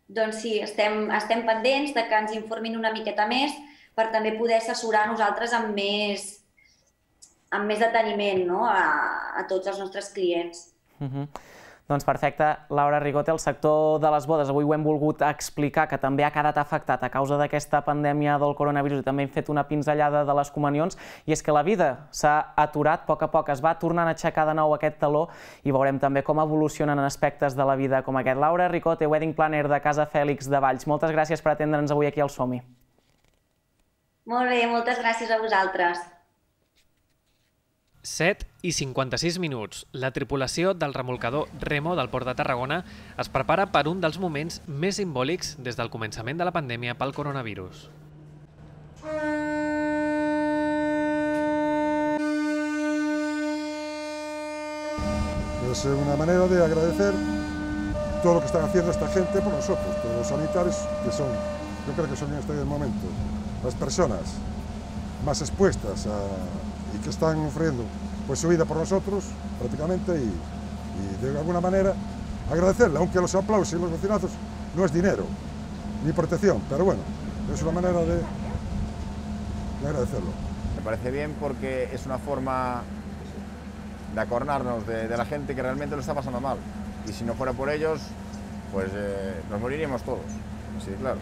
Doncs sí, estem, estem pendents de que ens informin una miqueta més per també poder assessorar nosaltres amb més, amb més deteniment, no? a, a tots els nostres clients. Uh-huh. Doncs perfecte. Laura Rigote, el sector de les bodes, avui ho hem volgut explicar, que també ha quedat afectat a causa d'aquesta pandèmia del coronavirus i també hem fet una pinzellada de les comunions, i és que la vida s'ha aturat a poc a poc, es va tornant a aixecar de nou aquest taló i veurem també com evolucionen aspectes de la vida com aquest. Laura Rigote, Wedding Planner de Casa Fèlix de Valls, moltes gràcies per atendre'ns avui aquí al Som-hi. Molt bé, moltes gràcies a vosaltres. set i cinquanta-sis minuts. La tripulació del remolcador Remo del Port de Tarragona es prepara per un dels moments més simbòlics des del començament de la pandèmia pel coronavirus. Es una manera de agradecer todo lo que están haciendo esta gente por nosotros, todos los sanitarios que son, yo creo que son en este momento las personas más expuestas a y que están ofreciendo pues, su vida por nosotros prácticamente y, y de alguna manera agradecerle, aunque los aplausos y los bocinazos no es dinero ni protección, pero bueno, es una manera de, de agradecerlo. Me parece bien porque es una forma de acordarnos de, de la gente que realmente lo está pasando mal y si no fuera por ellos, pues eh, nos moriríamos todos, sí, claro.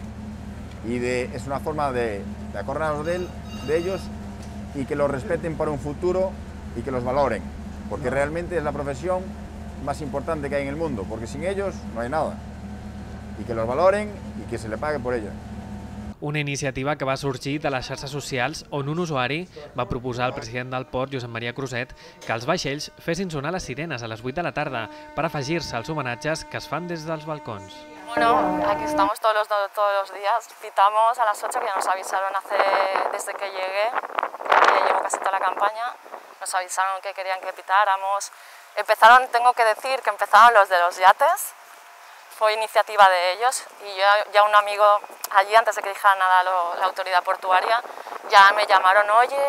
Y de, es una forma de, de acordarnos de, él, de ellos y que los respeten para un futuro y que los valoren, porque realmente es la profesión más importante que hay en el mundo, porque sin ellos no hay nada. Y que los valoren y que se le pague por ella. Una iniciativa que va sorgir de les xarxes socials on un usuari va proposar al president del port, Josep Maria Cruzet, que els vaixells fessin sonar les sirenes a les vuit de la tarda per afegir-se als homenatges que es fan des dels balcons. Bueno, aquí estamos todos los, todos los días, pitamos a las ocho, que ya nos avisaron hace, desde que llegué, ya llevo casi toda la campaña, nos avisaron que querían que pitáramos. Empezaron, tengo que decir que empezaron los de los yates, fue iniciativa de ellos y yo, ya un amigo allí, antes de que dijera nada lo, la autoridad portuaria, ya me llamaron, oye,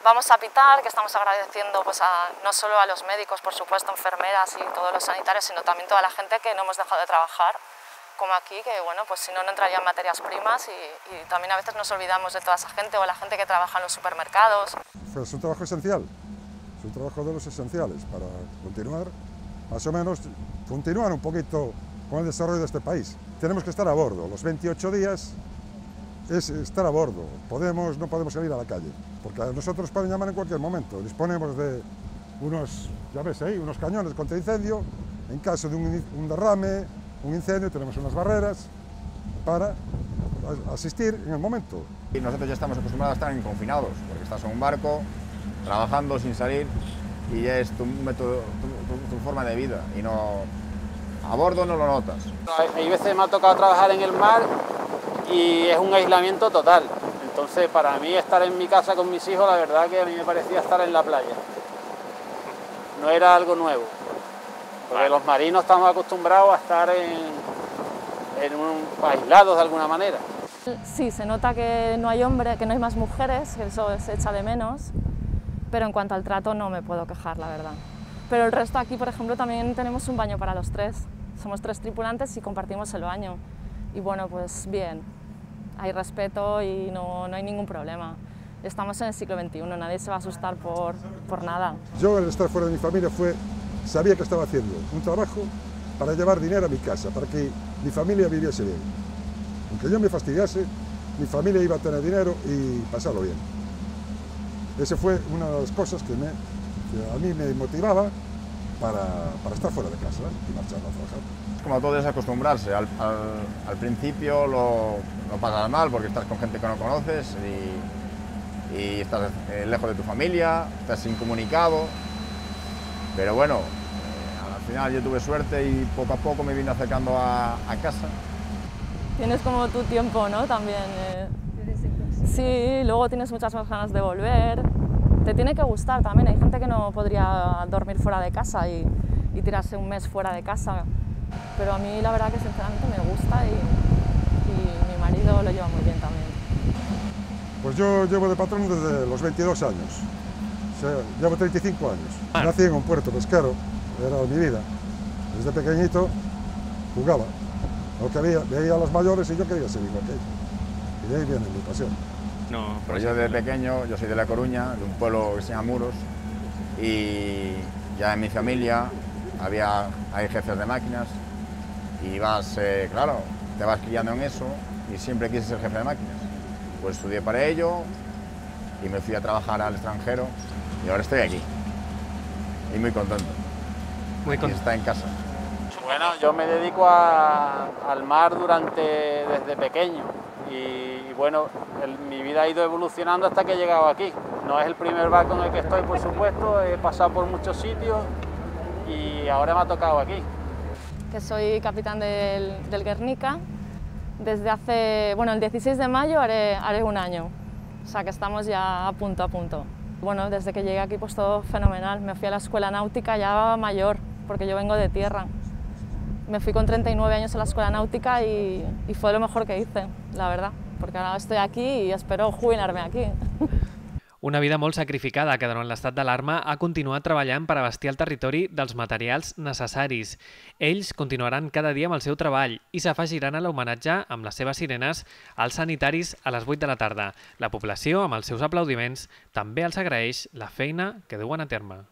vamos a pitar, que estamos agradeciendo pues, a, no solo a los médicos, por supuesto, enfermeras y todos los sanitarios, sino también toda la gente que no hemos dejado de trabajar, como aquí, que bueno, pues si no, no entrarían materias primas y, y también a veces nos olvidamos de toda esa gente o la gente que trabaja en los supermercados. Es un trabajo esencial, es un trabajo de los esenciales para continuar, más o menos, continuar un poquito con el desarrollo de este país. Tenemos que estar a bordo, los veintiocho días es estar a bordo, podemos, no podemos salir a la calle, porque a nosotros pueden llamar en cualquier momento, disponemos de unos, ya ves ahí, unos cañones contra incendio, en caso de un, un derrame, un incendio, tenemos unas barreras para asistir en el momento. Y nosotros ya estamos acostumbrados a estar confinados, porque estás en un barco, trabajando sin salir, y ya es tu, método, tu, tu, tu forma de vida, y no, a bordo no lo notas. Hay veces me ha tocado trabajar en el mar y es un aislamiento total. Entonces, para mí estar en mi casa con mis hijos, la verdad que a mí me parecía estar en la playa. No era algo nuevo, porque los marinos estamos acostumbrados a estar en, en un, aislados de alguna manera. Sí, se nota que no hay hombres, que no hay más mujeres, que eso se echa de menos. pero en cuanto al trato no me puedo quejar, la verdad. Pero el resto aquí, por ejemplo, también tenemos un baño para los tres. Somos tres tripulantes y compartimos el baño. Y bueno, pues bien, hay respeto y no, no hay ningún problema. Estamos en el siglo veintiuno, nadie se va a asustar por, por nada. Yo, al estar fuera de mi familia, fue, sabía que estaba haciendo un trabajo para llevar dinero a mi casa, para que mi familia viviese bien. Aunque yo me fastidiase, mi familia iba a tener dinero y pasarlo bien. Esa fue una de las cosas que, me, que a mí me motivaba para, para estar fuera de casa y marchar a trabajar. Como todo es acostumbrarse. Al, al, al principio lo, lo pasas mal porque estás con gente que no conoces y, y estás eh, lejos de tu familia, estás incomunicado. Pero bueno, eh, al final yo tuve suerte y poco a poco me vine acercando a, a casa. Tienes como tu tiempo, ¿no? También. Eh... Sí, luego tienes muchas más ganas de volver. Te tiene que gustar también. Hay gente que no podría dormir fuera de casa y, y tirarse un mes fuera de casa. Pero a mí la verdad que sinceramente me gusta y, y mi marido lo lleva muy bien también. Pues yo llevo de patrón desde los veintidós años. O sea, llevo treinta y cinco años. Nací en un puerto pesquero, era mi vida. Desde pequeñito jugaba. Lo que había, veía a los mayores y yo quería ser igual que ellos. Y de ahí viene mi pasión. No, pues yo desde pequeño, yo soy de La Coruña, de un pueblo que se llama Muros, y ya en mi familia había, hay jefes de máquinas y vas, eh, claro, te vas criando en eso y siempre quise ser jefe de máquinas. Pues estudié para ello y me fui a trabajar al extranjero y ahora estoy aquí. Y muy contento. Muy contento. Está en casa. Bueno, yo me dedico a, al mar durante, desde pequeño y, y bueno, el, mi vida ha ido evolucionando hasta que he llegado aquí. No es el primer barco en el que estoy, por supuesto, he pasado por muchos sitios y ahora me ha tocado aquí. Que soy capitán del, del Guernica. Desde hace, bueno, el dieciséis de mayo haré, haré un año, o sea que estamos ya a punto a punto. Bueno, desde que llegué aquí pues todo fenomenal. Me fui a la escuela náutica ya mayor, porque yo vengo de tierra. Me fui con treinta y nueve años a la escuela náutica y, y fue lo mejor que hice, la verdad, porque ahora estoy aquí y espero jubilarme aquí. Una vida molt sacrificada que durant l'estat d'alarma ha continuat treballant per abastir el territori dels materials necessaris. Ells continuaran cada dia amb el seu treball i s'afegiran a l'homenatge amb les seves sirenes als sanitaris a les vuit de la tarda. La població, amb els seus aplaudiments, també els agraeix la feina que duen a terme.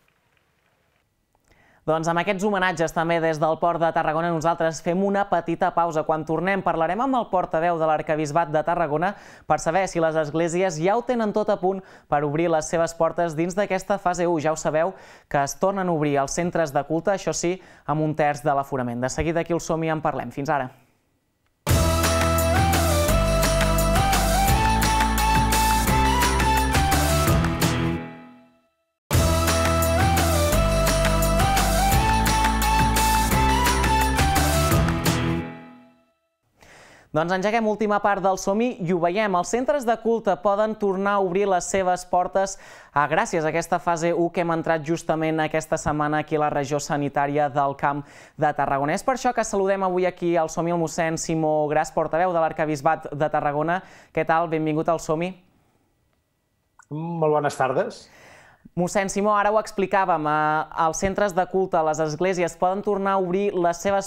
Doncs amb aquests homenatges també des del Port de Tarragona nosaltres fem una petita pausa. Quan tornem parlarem amb el portaveu de l'Arquebisbat de Tarragona per saber si les esglésies ja ho tenen tot a punt per obrir les seves portes dins d'aquesta fase u. Ja ho sabeu que es tornen a obrir els centres de culte, això sí, amb un terç de l'aforament. De seguida aquí al Som-hi en parlem. Fins ara. Doncs engeguem última part del Som-hi i ho veiem. Els centres de culte poden tornar a obrir les seves portes gràcies a aquesta fase u que hem entrat justament aquesta setmana aquí a la regió sanitària del Camp de Tarragona. És per això que saludem avui aquí al Som-hi el mossèn Simó Gras, portaveu de l'Arquebisbat de Tarragona. Què tal? Benvingut al Som-hi. Molt bones tardes. Mossèn Simó, ara ho explicàvem, els centres de culte, les esglésies poden tornar a obrir les seves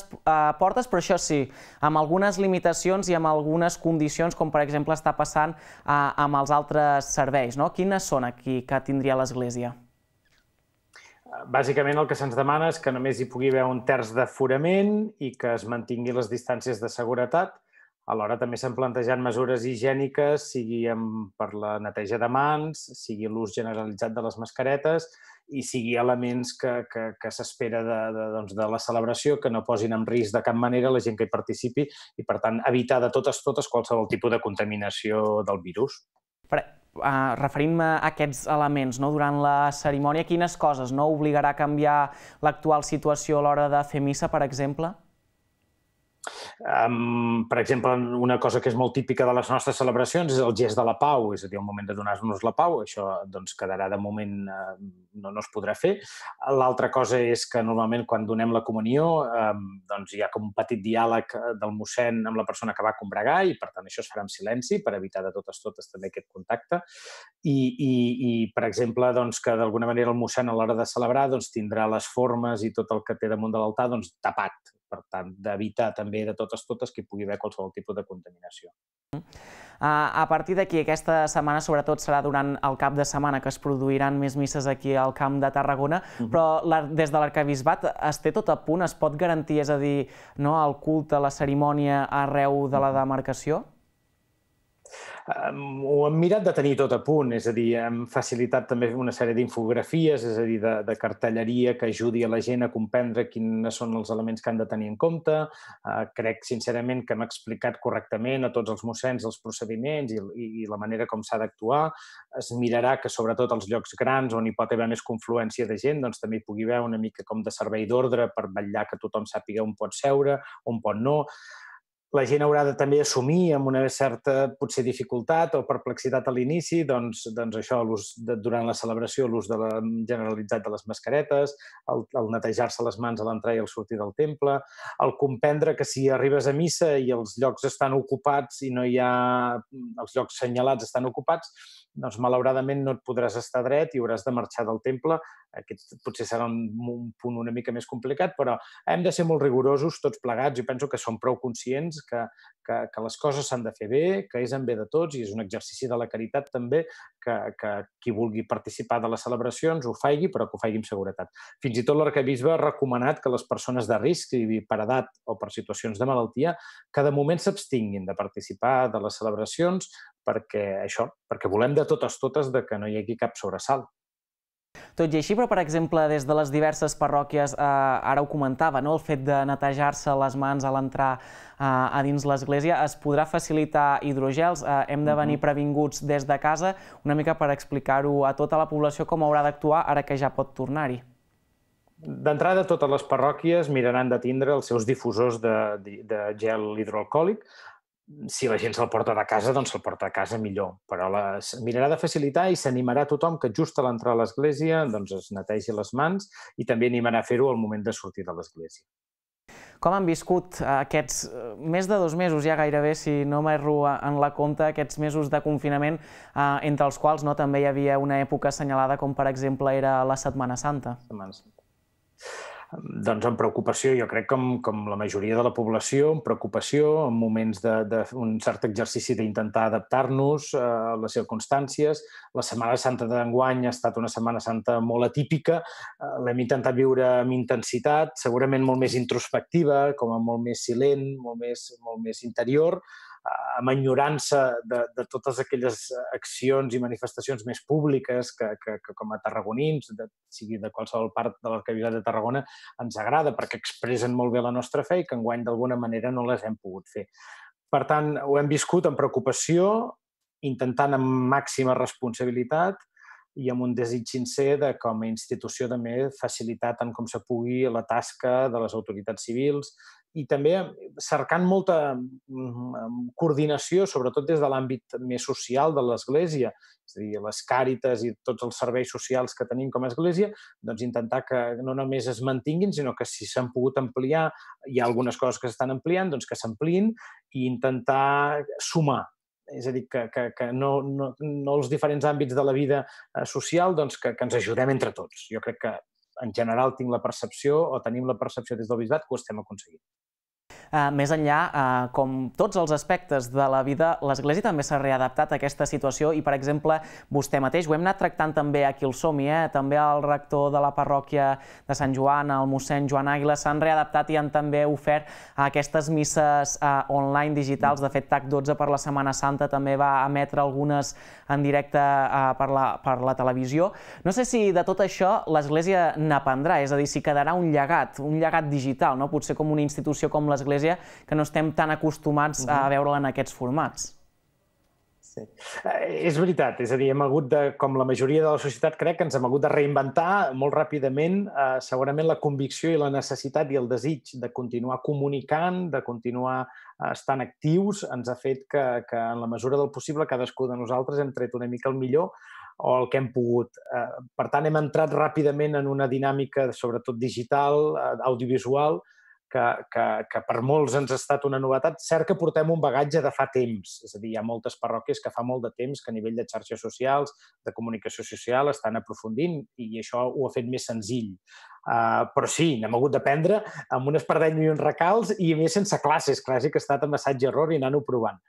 portes, però això sí, amb algunes limitacions i amb algunes condicions, com per exemple està passant amb els altres serveis. Quines són aquí que tindria l'Església? Bàsicament el que se'ns demana és que només hi pugui haver un terç d'aforament i que es mantingui les distàncies de seguretat. Alhora també s'han plantejat mesures higièniques, sigui per la neteja de mans, sigui l'ús generalitzat de les mascaretes i sigui elements que s'espera de la celebració que no posin en risc de cap manera la gent que hi participi i, per tant, evitar de totes totes qualsevol tipus de contaminació del virus. Referint-me a aquests elements, durant la cerimònia, quines coses obligarà a canviar l'actual situació a l'hora de fer missa, per exemple? Per exemple, una cosa que és molt típica de les nostres celebracions és el gest de la pau, és a dir, el moment de donar-nos la pau. Això quedarà de moment, no es podrà fer. L'altra cosa és que normalment quan donem la comunió hi ha com un petit diàleg del mossèn amb la persona que va combregar i, per tant, això es farà en silenci per evitar de totes totes també aquest contacte. I, per exemple, que d'alguna manera el mossèn a l'hora de celebrar tindrà les formes i tot el que té damunt de l'altar tapat. Per tant, d'evitar també de totes totes que hi pugui haver qualsevol tipus de contaminació. A partir d'aquí, aquesta setmana sobretot serà durant el cap de setmana que es produiran més misses aquí al Camp de Tarragona, però des de l'arquebisbat es té tot a punt, es pot garantir, és a dir, el culte, la cerimònia arreu de la demarcació? Ho hem mirat de tenir tot a punt, és a dir, hem facilitat també una sèrie d'infografies, és a dir, de cartelleria que ajudi a la gent a comprendre quins són els elements que han de tenir en compte. Crec, sincerament, que hem explicat correctament a tots els mossens els procediments i la manera com s'ha d'actuar. Es mirarà que, sobretot, als llocs grans on hi pot haver més confluència de gent, doncs també hi pugui haver una mica com de servei d'ordre per vetllar que tothom sàpiga on pot seure, on pot no. La gent haurà de també assumir amb una certa, potser, dificultat o perplexitat a l'inici, doncs això, durant la celebració, l'ús generalitzat de les mascaretes, el netejar-se les mans a l'entrar i al sortir del temple, el comprendre que si arribes a missa i els llocs estan ocupats i no hi ha... els llocs senyalats estan ocupats, doncs malauradament no et podràs estar dret i hauràs de marxar del temple. Aquest potser serà un punt una mica més complicat, però hem de ser molt rigorosos tots plegats. Jo penso que som prou conscients que les coses s'han de fer bé, que és en bé de tots i és un exercici de la caritat també, que qui vulgui participar de les celebracions ho faci, però que ho faci amb seguretat. Fins i tot l'arquebisbe ha recomanat que les persones de risc, per edat o per situacions de malaltia, que de moment s'abstinguin de participar de les celebracions perquè això, perquè volem de totes totes que no hi hagi cap sobresalt. Tot i així, però, per exemple, des de les diverses parròquies, ara ho comentava, el fet de netejar-se les mans a l'entrar a dins l'església, es podrà facilitar hidrogels, hem de venir previnguts des de casa, una mica per explicar-ho a tota la població com haurà d'actuar ara que ja pot tornar-hi. D'entrada, totes les parròquies miraran de tindre els seus difusors de gel hidroalcohòlic. Si la gent se'l porta de casa, doncs se'l porta a casa millor, però mirarà de facilitar i s'animarà tothom que just a l'entrar a l'església es netegi les mans i també animarà a fer-ho al moment de sortir de l'església. Com han viscut aquests més de dos mesos, ja gairebé, si no m'erro en la compte, aquests mesos de confinament, entre els quals també hi havia una època assenyalada com, per exemple, era la Setmana Santa? Setmana Santa. Doncs amb preocupació, jo crec com la majoria de la població, amb preocupació, en moments d'un cert exercici d'intentar adaptar-nos a les circumstàncies. La Setmana Santa d'enguany ha estat una Setmana Santa molt atípica, l'hem intentat viure amb intensitat, segurament molt més introspectiva, com a molt més silent, molt més interior, amb enyorança de totes aquelles accions i manifestacions més públiques que com a tarragonins, sigui de qualsevol part de l'arquebisbat de Tarragona, ens agrada perquè expressen molt bé la nostra fe i que enguany d'alguna manera no les hem pogut fer. Per tant, ho hem viscut amb preocupació, intentant amb màxima responsabilitat i amb un desig sincer de, com a institució, també facilitar tant com se pugui la tasca de les autoritats civils i també cercant molta coordinació, sobretot des de l'àmbit més social de l'Església, és a dir, les càritas i tots els serveis socials que tenim com a Església, doncs intentar que no només es mantinguin, sinó que si s'han pogut ampliar, hi ha algunes coses que s'estan ampliant, doncs que s'ampliïn i intentar sumar. És a dir, que no els diferents àmbits de la vida social, doncs que ens ajudem entre tots. Jo crec que en general tinc la percepció, o tenim la percepció des del bisbat, que ho estem aconseguint. Més enllà, com tots els aspectes de la vida, l'Església també s'ha readaptat a aquesta situació i, per exemple, vostè mateix, ho hem anat tractant també aquí al Som-hi, també el rector de la parròquia de Sant Joan, el mossèn Joan Àguila, s'han readaptat i han també ofert aquestes misses online digitals. De fet, T A C dotze per la Setmana Santa també va emetre algunes en directe per la televisió. No sé si de tot això l'Església n'aprendrà, és a dir, si quedarà un llegat, un llegat digital, potser com una institució com l'Església, que no estem tan acostumats a veure-la en aquests formats. Sí. És veritat, és a dir, hem hagut de, com la majoria de la societat, crec que ens hem hagut de reinventar molt ràpidament. Eh, segurament la convicció i la necessitat i el desig de continuar comunicant, de continuar eh, estant actius, ens ha fet que, que en la mesura del possible cadascú de nosaltres hem tret una mica el millor o el que hem pogut. Eh, per tant, hem entrat ràpidament en una dinàmica, sobretot digital, eh, audiovisual, que, que, que per molts ens ha estat una novetat. Cert que portem un bagatge de fa temps, és a dir, hi ha moltes parròquies que fa molt de temps que a nivell de xarxes socials, de comunicació social, estan aprofundint i això ho ha fet més senzill. Uh, però sí, n'hem hagut d'aprendre amb un espardeny i uns recals i a més sense classes, quasi que ha estat amb assaig i error i anant-ho provant.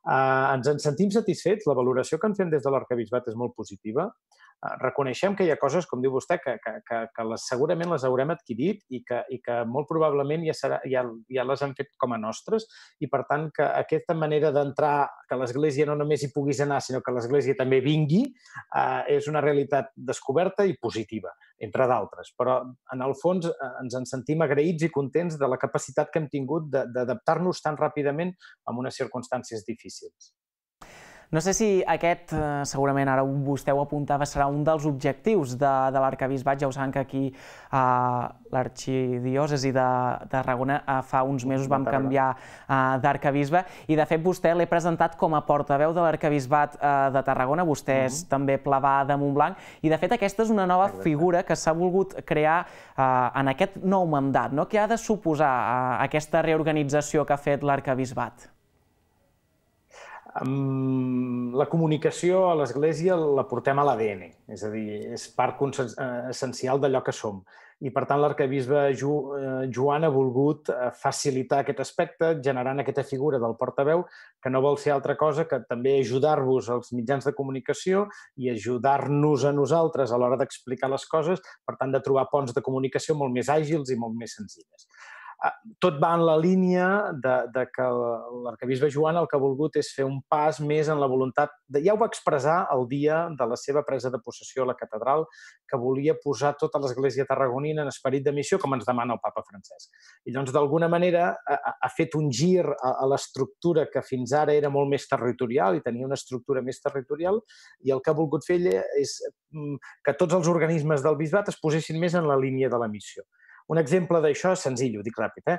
Uh, ens en sentim satisfets, la valoració que en fem des de l'Arquebisbat és molt positiva. Uh, reconeixem que hi ha coses, com diu vostè, que, que, que, que les, segurament les haurem adquirit i que, i que molt probablement ja, serà, ja, ja les hem fet com a nostres i per tant que aquesta manera d'entrar, que l'Església no només hi puguis anar sinó que l'Església també vingui, uh, és una realitat descoberta i positiva, entre d'altres. Però en el fons ens en sentim agraïts i contents de la capacitat que hem tingut d'adaptar-nos tan ràpidament a unes circumstàncies difícils. No sé si aquest, segurament ara vostè ho apuntava, serà un dels objectius de, de l'Arquebisbat. Ja ho saben que aquí a l'arxidiòcesi de Tarragona fa uns mesos vam canviar d'arquebisbe i de fet vostè l'he presentat com a portaveu de l'Arquebisbat de Tarragona, vostè és també plebà de Montblanc i de fet aquesta és una nova figura que s'ha volgut crear en aquest nou mandat. Què ha de suposar aquesta reorganització que ha fet l'Arquebisbat? La comunicació a l'Església la portem a l'A D N, és a dir, és part essencial d'allò que som. I, per tant, l'arquebisbe Joan ha volgut facilitar aquest aspecte, generant aquesta figura del portaveu, que no vol ser altra cosa que també ajudar-vos als mitjans de comunicació i ajudar-nos a nosaltres a l'hora d'explicar les coses, per tant, de trobar ponts de comunicació molt més àgils i molt més senzilles. Tot va en la línia de, de que l'arquebisbe Joan el que ha volgut és fer un pas més en la voluntat, de, ja ho va expressar el dia de la seva presa de possessió a la catedral, que volia posar tota l'Església tarragonina en esperit de missió, com ens demana el papa Francesc. I doncs, d'alguna manera, ha, ha fet un gir a, a l'estructura que fins ara era molt més territorial i tenia una estructura més territorial, i el que ha volgut fer ella és que tots els organismes del bisbat es posessin més en la línia de la missió. Un exemple d'això, senzill, ho dic ràpid, eh?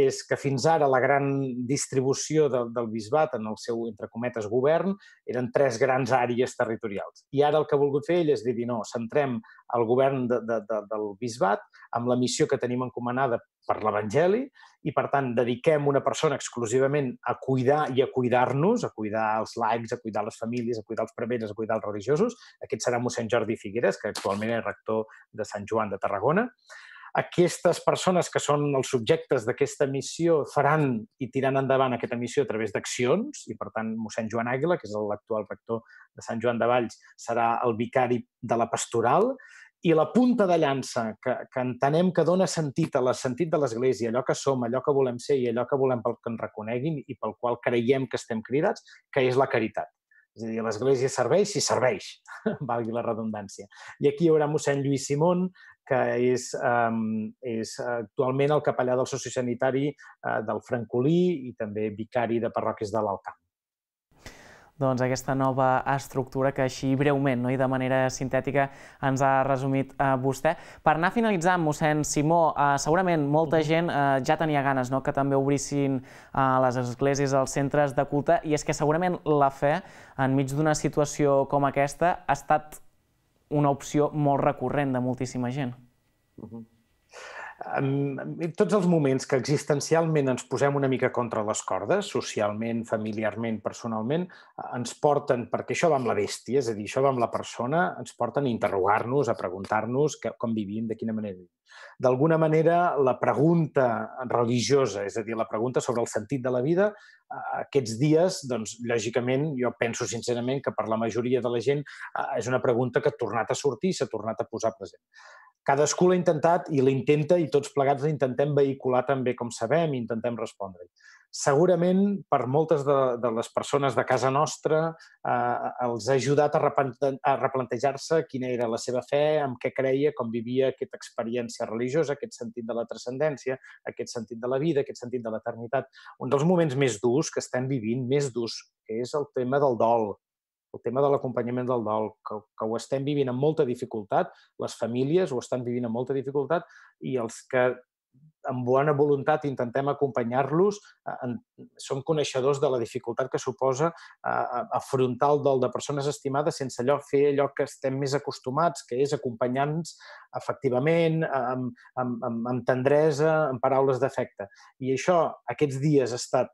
és que fins ara la gran distribució del, del bisbat en el seu, entre cometes, govern eren tres grans àrees territorials. I ara el que ha volgut fer ell és dir, no, centrem el govern de, de, de, del bisbat amb la missió que tenim encomanada per l'Evangeli i, per tant, dediquem una persona exclusivament a cuidar i a cuidar-nos, a cuidar els laics, a cuidar les famílies, a cuidar els preveres, a cuidar els religiosos. Aquest serà mossèn Jordi Figueres, que actualment és rector de Sant Joan de Tarragona. Aquestes persones que són els subjectes d'aquesta missió faran i tiraran endavant aquesta missió a través d'accions i, per tant, mossèn Joan Àguila, que és l'actual rector de Sant Joan de Valls, serà el vicari de la pastoral i la punta de llança que, que entenem que dona sentit a la sentit de l'Església, allò que som, allò que volem ser i allò que volem pel que ens reconeguin i pel qual creiem que estem cridats, que és la caritat. És a dir, l'Església serveix si serveix, valgui la redundància. I aquí hi haurà mossèn Lluís Simón, que és, um, és actualment el capellà del sociosanitari uh, del Francolí i també vicari de parròquies de l'Alt Camp. Doncs aquesta nova estructura que així breument, no? i de manera sintètica ens ha resumit eh, vostè. Per anar finalitzant, mossèn Simó, eh, segurament molta gent eh, ja tenia ganes no? que també obrissin eh, les esglésies, els centres de culte, i és que segurament la fe, enmig d'una situació com aquesta, ha estat una opció molt recurrent de moltíssima gent. Uh-huh. En tots els moments que existencialment ens posem una mica contra les cordes, socialment, familiarment, personalment, ens porten, perquè això va amb la bèstia, és a dir, això va amb la persona, ens porten a interrogar-nos, a preguntar-nos com vivim, de quina manera vivim. D'alguna manera, la pregunta religiosa, és a dir, la pregunta sobre el sentit de la vida, aquests dies, doncs, lògicament, jo penso sincerament que per la majoria de la gent és una pregunta que ha tornat a sortir i s'ha tornat a posar present. cadascú l'ha intentat i l'intenta i tots plegats l'intentem vehicular també com sabem i intentem respondre-hi. Segurament, per moltes de, de les persones de casa nostra, eh, els ha ajudat a, replante a replantejar-se quina era la seva fe, amb què creia, com vivia aquesta experiència religiosa, aquest sentit de la transcendència, aquest sentit de la vida, aquest sentit de l'eternitat. Un dels moments més durs que estem vivint, més durs, que és el tema del dol, el tema de l'acompanyament del dol, que, que ho estem vivint amb molta dificultat, les famílies ho estan vivint amb molta dificultat i els que amb bona voluntat intentem acompanyar-los, eh, som coneixedors de la dificultat que suposa eh, afrontar el dol de persones estimades sense allò fer allò que estem més acostumats, que és acompanyar-nos efectivament, amb, amb, amb, amb tendresa, amb paraules d'afecte. I això, aquests dies, ha estat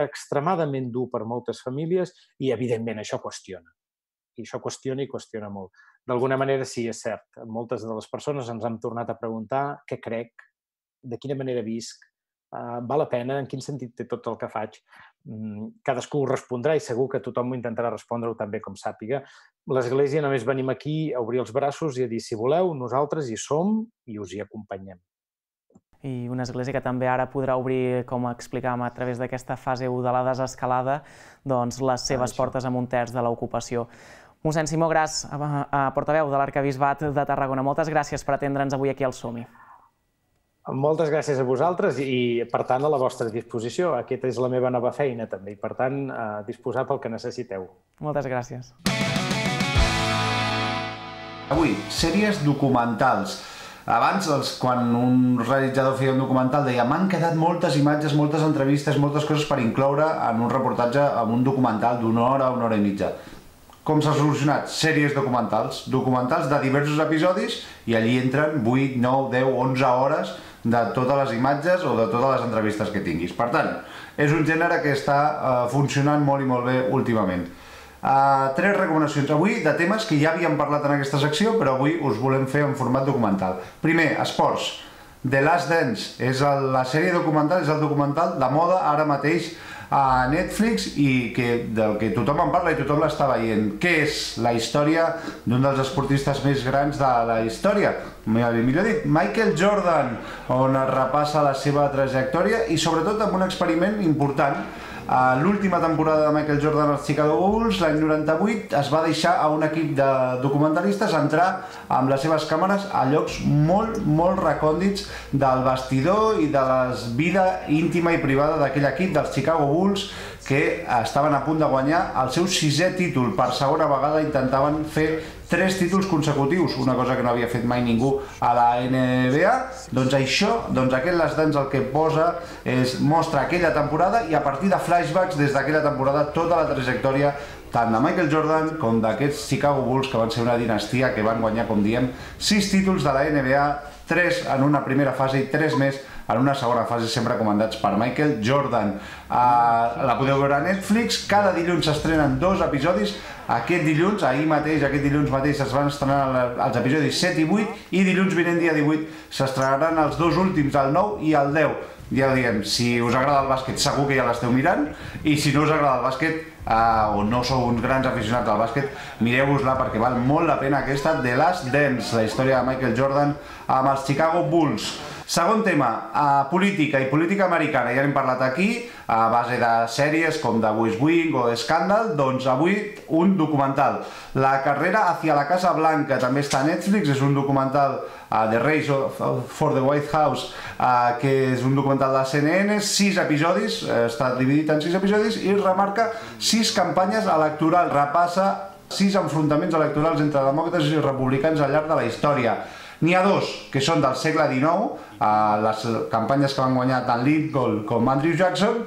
extremadament dur per moltes famílies i, evidentment, això qüestiona. I això qüestiona i qüestiona molt. D'alguna manera, sí, és cert. Moltes de les persones ens han tornat a preguntar què crec, de quina manera visc, uh, val la pena, en quin sentit té tot el que faig. Mm, cadascú ho respondrà i segur que tothom intentarà respondre-ho també com sàpiga. L'Església només venim aquí a obrir els braços i a dir, si voleu, nosaltres hi som i us hi acompanyem. I una església que també ara podrà obrir, com explicàvem a través d'aquesta fase u de la desescalada, doncs les seves portes amb un terç de l'ocupació. Mossèn Simó Gras, portaveu de l'Arquebisbat de Tarragona, moltes gràcies per atendre'ns avui aquí al Som-hi. Moltes gràcies a vosaltres i, per tant, a la vostra disposició. Aquesta és la meva nova feina, també, i, per tant, a disposar pel que necessiteu. Moltes gràcies. Avui, sèries documentals. Abans, quan un realitzador feia un documental, deia m'han quedat moltes imatges, moltes entrevistes, moltes coses per incloure en un reportatge, en un documental d'una hora, una hora i mitja. Com s'ha solucionat? Sèries documentals. Documentals de diversos episodis i allí entren vuit, nou, deu, onze hores de totes les imatges o de totes les entrevistes que tinguis. Per tant, és un gènere que està funcionant molt i molt bé últimament. Tres recomanacions avui de temes que ja havíem parlat en aquesta secció, però avui us volem fer en format documental. Primer, esports. The Last Dance és la sèrie documental, és el documental de moda ara mateix a Netflix i del que tothom en parla i tothom l'està veient. Què és la història d'un dels esportistes més grans de la història? Millor dit, Michael Jordan, on es repassa la seva trajectòria i sobretot amb un experiment important. L'última temporada de Michael Jordan als Chicago Bulls, l'any noranta-vuit, es va deixar a un equip de documentalistes entrar amb les seves càmeres a llocs molt, molt recòndits del vestidor i de la vida íntima i privada d'aquell equip dels Chicago Bulls, que estaven a punt de guanyar el seu sisè títol. Per segona vegada intentaven fer tres títols consecutius, una cosa que no havia fet mai ningú a la N B A. Doncs això, doncs aquest Last Dance el que posa és mostra aquella temporada i a partir de flashbacks des d'aquella temporada tota la trajectòria tant de Michael Jordan com d'aquests Chicago Bulls, que van ser una dinastia que van guanyar, com diem, sis títols de la N B A, tres en una primera fase i tres més en una segona fase, sempre comandats per Michael Jordan. La podeu veure a Netflix, cada dilluns s'estrenen dos episodis. Aquest dilluns, ahir mateix, aquest dilluns mateix es van estrenar els episodis set i vuit i dilluns vinent, dia divuit, s'estrenaran els dos últims, el nou i el deu. Ja ho diem, si us agrada el bàsquet segur que ja l'esteu mirant i si no us agrada el bàsquet o no sou uns grans aficionats al bàsquet, mireu-vos-la perquè val molt la pena aquesta The Last Dance, la història de Michael Jordan amb els Chicago Bulls. Segon tema, política i política americana. Ja n'hem parlat aquí, a base de sèries com The West Wing o Scandal, doncs avui un documental. La carrera hacia la Casa Blanca també està a Netflix, és un documental The Race for the White House, que és un documental de C N N, sis episodis, està dividit en sis episodis i remarca sis campanyes electorals, repassa sis enfrontaments electorals entre demòcrates i republicans al llarg de la història. N'hi ha dos que són del segle dinou, les campanyes que van guanyar tant Lincoln com Andrew Jackson.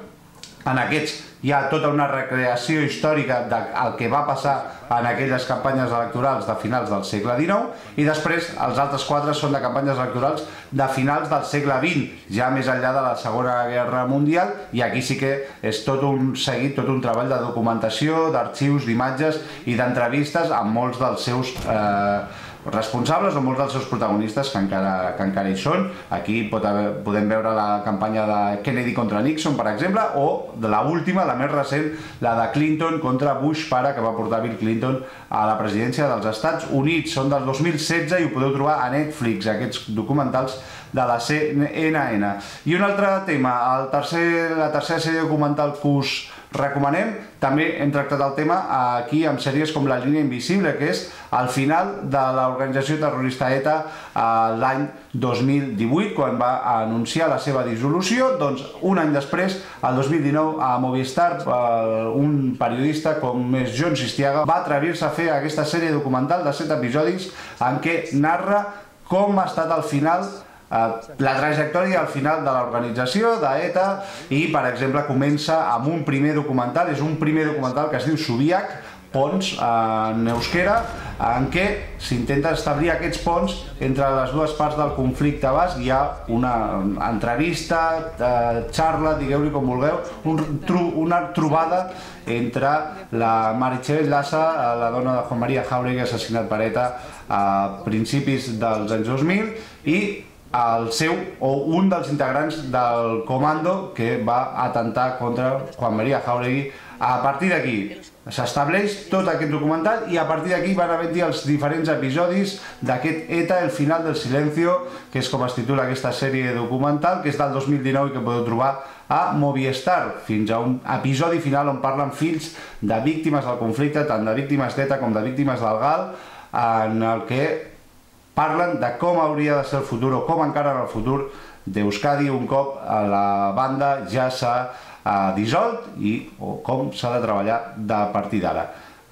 En aquests hi ha tota una recreació històrica del que va passar en aquelles campanyes electorals de finals del segle dinou i després els altres quatre són de campanyes electorals de finals del segle vint, ja més enllà de la Segona Guerra Mundial, i aquí sí que és tot un seguit, tot un treball de documentació, d'arxius, d'imatges i d'entrevistes amb molts dels seus eh, responsables o molts dels seus protagonistes que encara, que encara hi són. Aquí pot haver, podem veure la campanya de Kennedy contra Nixon, per exemple, o de l'última, la més recent, la de Clinton contra Bush pare, que va portar Bill Clinton a la presidència dels Estats Units. Són del dos mil setze i ho podeu trobar a Netflix, aquests documentals de la C N N. I un altre tema, el tercer, la tercera sèrie documental que us recomanem, també hem tractat el tema aquí amb sèries com La línia invisible, que és al final de l'organització terrorista ETA l'any dos mil divuit, quan va anunciar la seva dissolució. Doncs un any després, el dos mil dinou, a Movistar, un periodista com és Jon Sistiaga va atrevir-se a fer aquesta sèrie documental de set episodis en què narra com ha estat al final la trajectòria al final de l'organització d'ETA i, per exemple, comença amb un primer documental, és un primer documental que es diu Subiac, ponts en euskera, en què s'intenta establir aquests ponts entre les dues parts del conflicte basc. Hi ha una entrevista, xarra, digueu-li com vulgueu, una trobada entre la Meritxell Lassa, la dona de Juan María Jáuregui, assassinat per ETA a principis dels anys dos mil, i el seu o un dels integrants del comando que va atentar contra Juan María Jáuregui. A partir d'aquí s'estableix tot aquest documental i a partir d'aquí van haver-hi els diferents episodis d'aquest ETA, el final del silencio, que és com es titula aquesta sèrie documental, que és del dos mil dinou i que podeu trobar a Movistar, fins a un episodi final on parlen fills de víctimes del conflicte, tant de víctimes d'ETA com de víctimes del GAL, en el que parlen de com hauria de ser el futur o com encara en el futur d'Euskadi un cop la banda ja s'ha dissolt i o com s'ha de treballar de partir d'ara.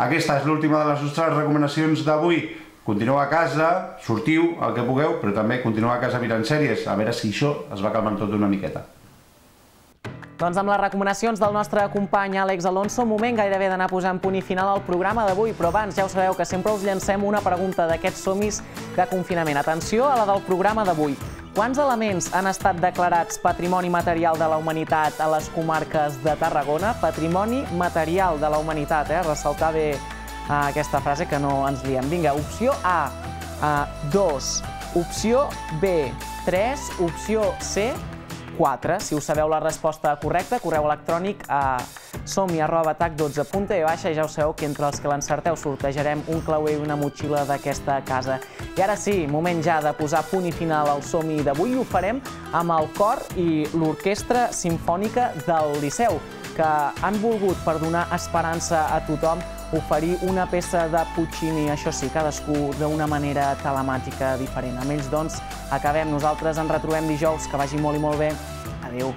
Aquesta és l'última de les nostres recomanacions d'avui. Continueu a casa, sortiu el que pugueu, però també continueu a casa mirant sèries, a veure si això es va calmant tot una miqueta. Doncs amb les recomanacions del nostre company Àlex Alonso, moment gairebé d'anar posant punt i final al programa d'avui, però abans ja ho sabeu que sempre us llancem una pregunta d'aquests somis de confinament. Atenció a la del programa d'avui. Quants elements han estat declarats Patrimoni Material de la Humanitat a les comarques de Tarragona? Patrimoni Material de la Humanitat, eh? Ressaltar bé aquesta frase que no ens liem. Vinga, opció A, dos, opció B, tres, opció C, quatre. Si us sabeu la resposta correcta, correu electrònic a somi arroba tac dotze punt e i ja ho sabeu que entre els que l'encerteu sortejarem un clauer i una motxilla d'aquesta casa. I ara sí, moment ja de posar punt i final al Som-hi d'avui i ho farem amb el cor i l'orquestra simfònica del Liceu, que han volgut, per donar esperança a tothom, oferir una peça de Puccini, això sí, cadascú d'una manera telemàtica diferent. Amb ells, doncs, acabem. Nosaltres ens retrobem dijous. Que vagi molt i molt bé. Adéu.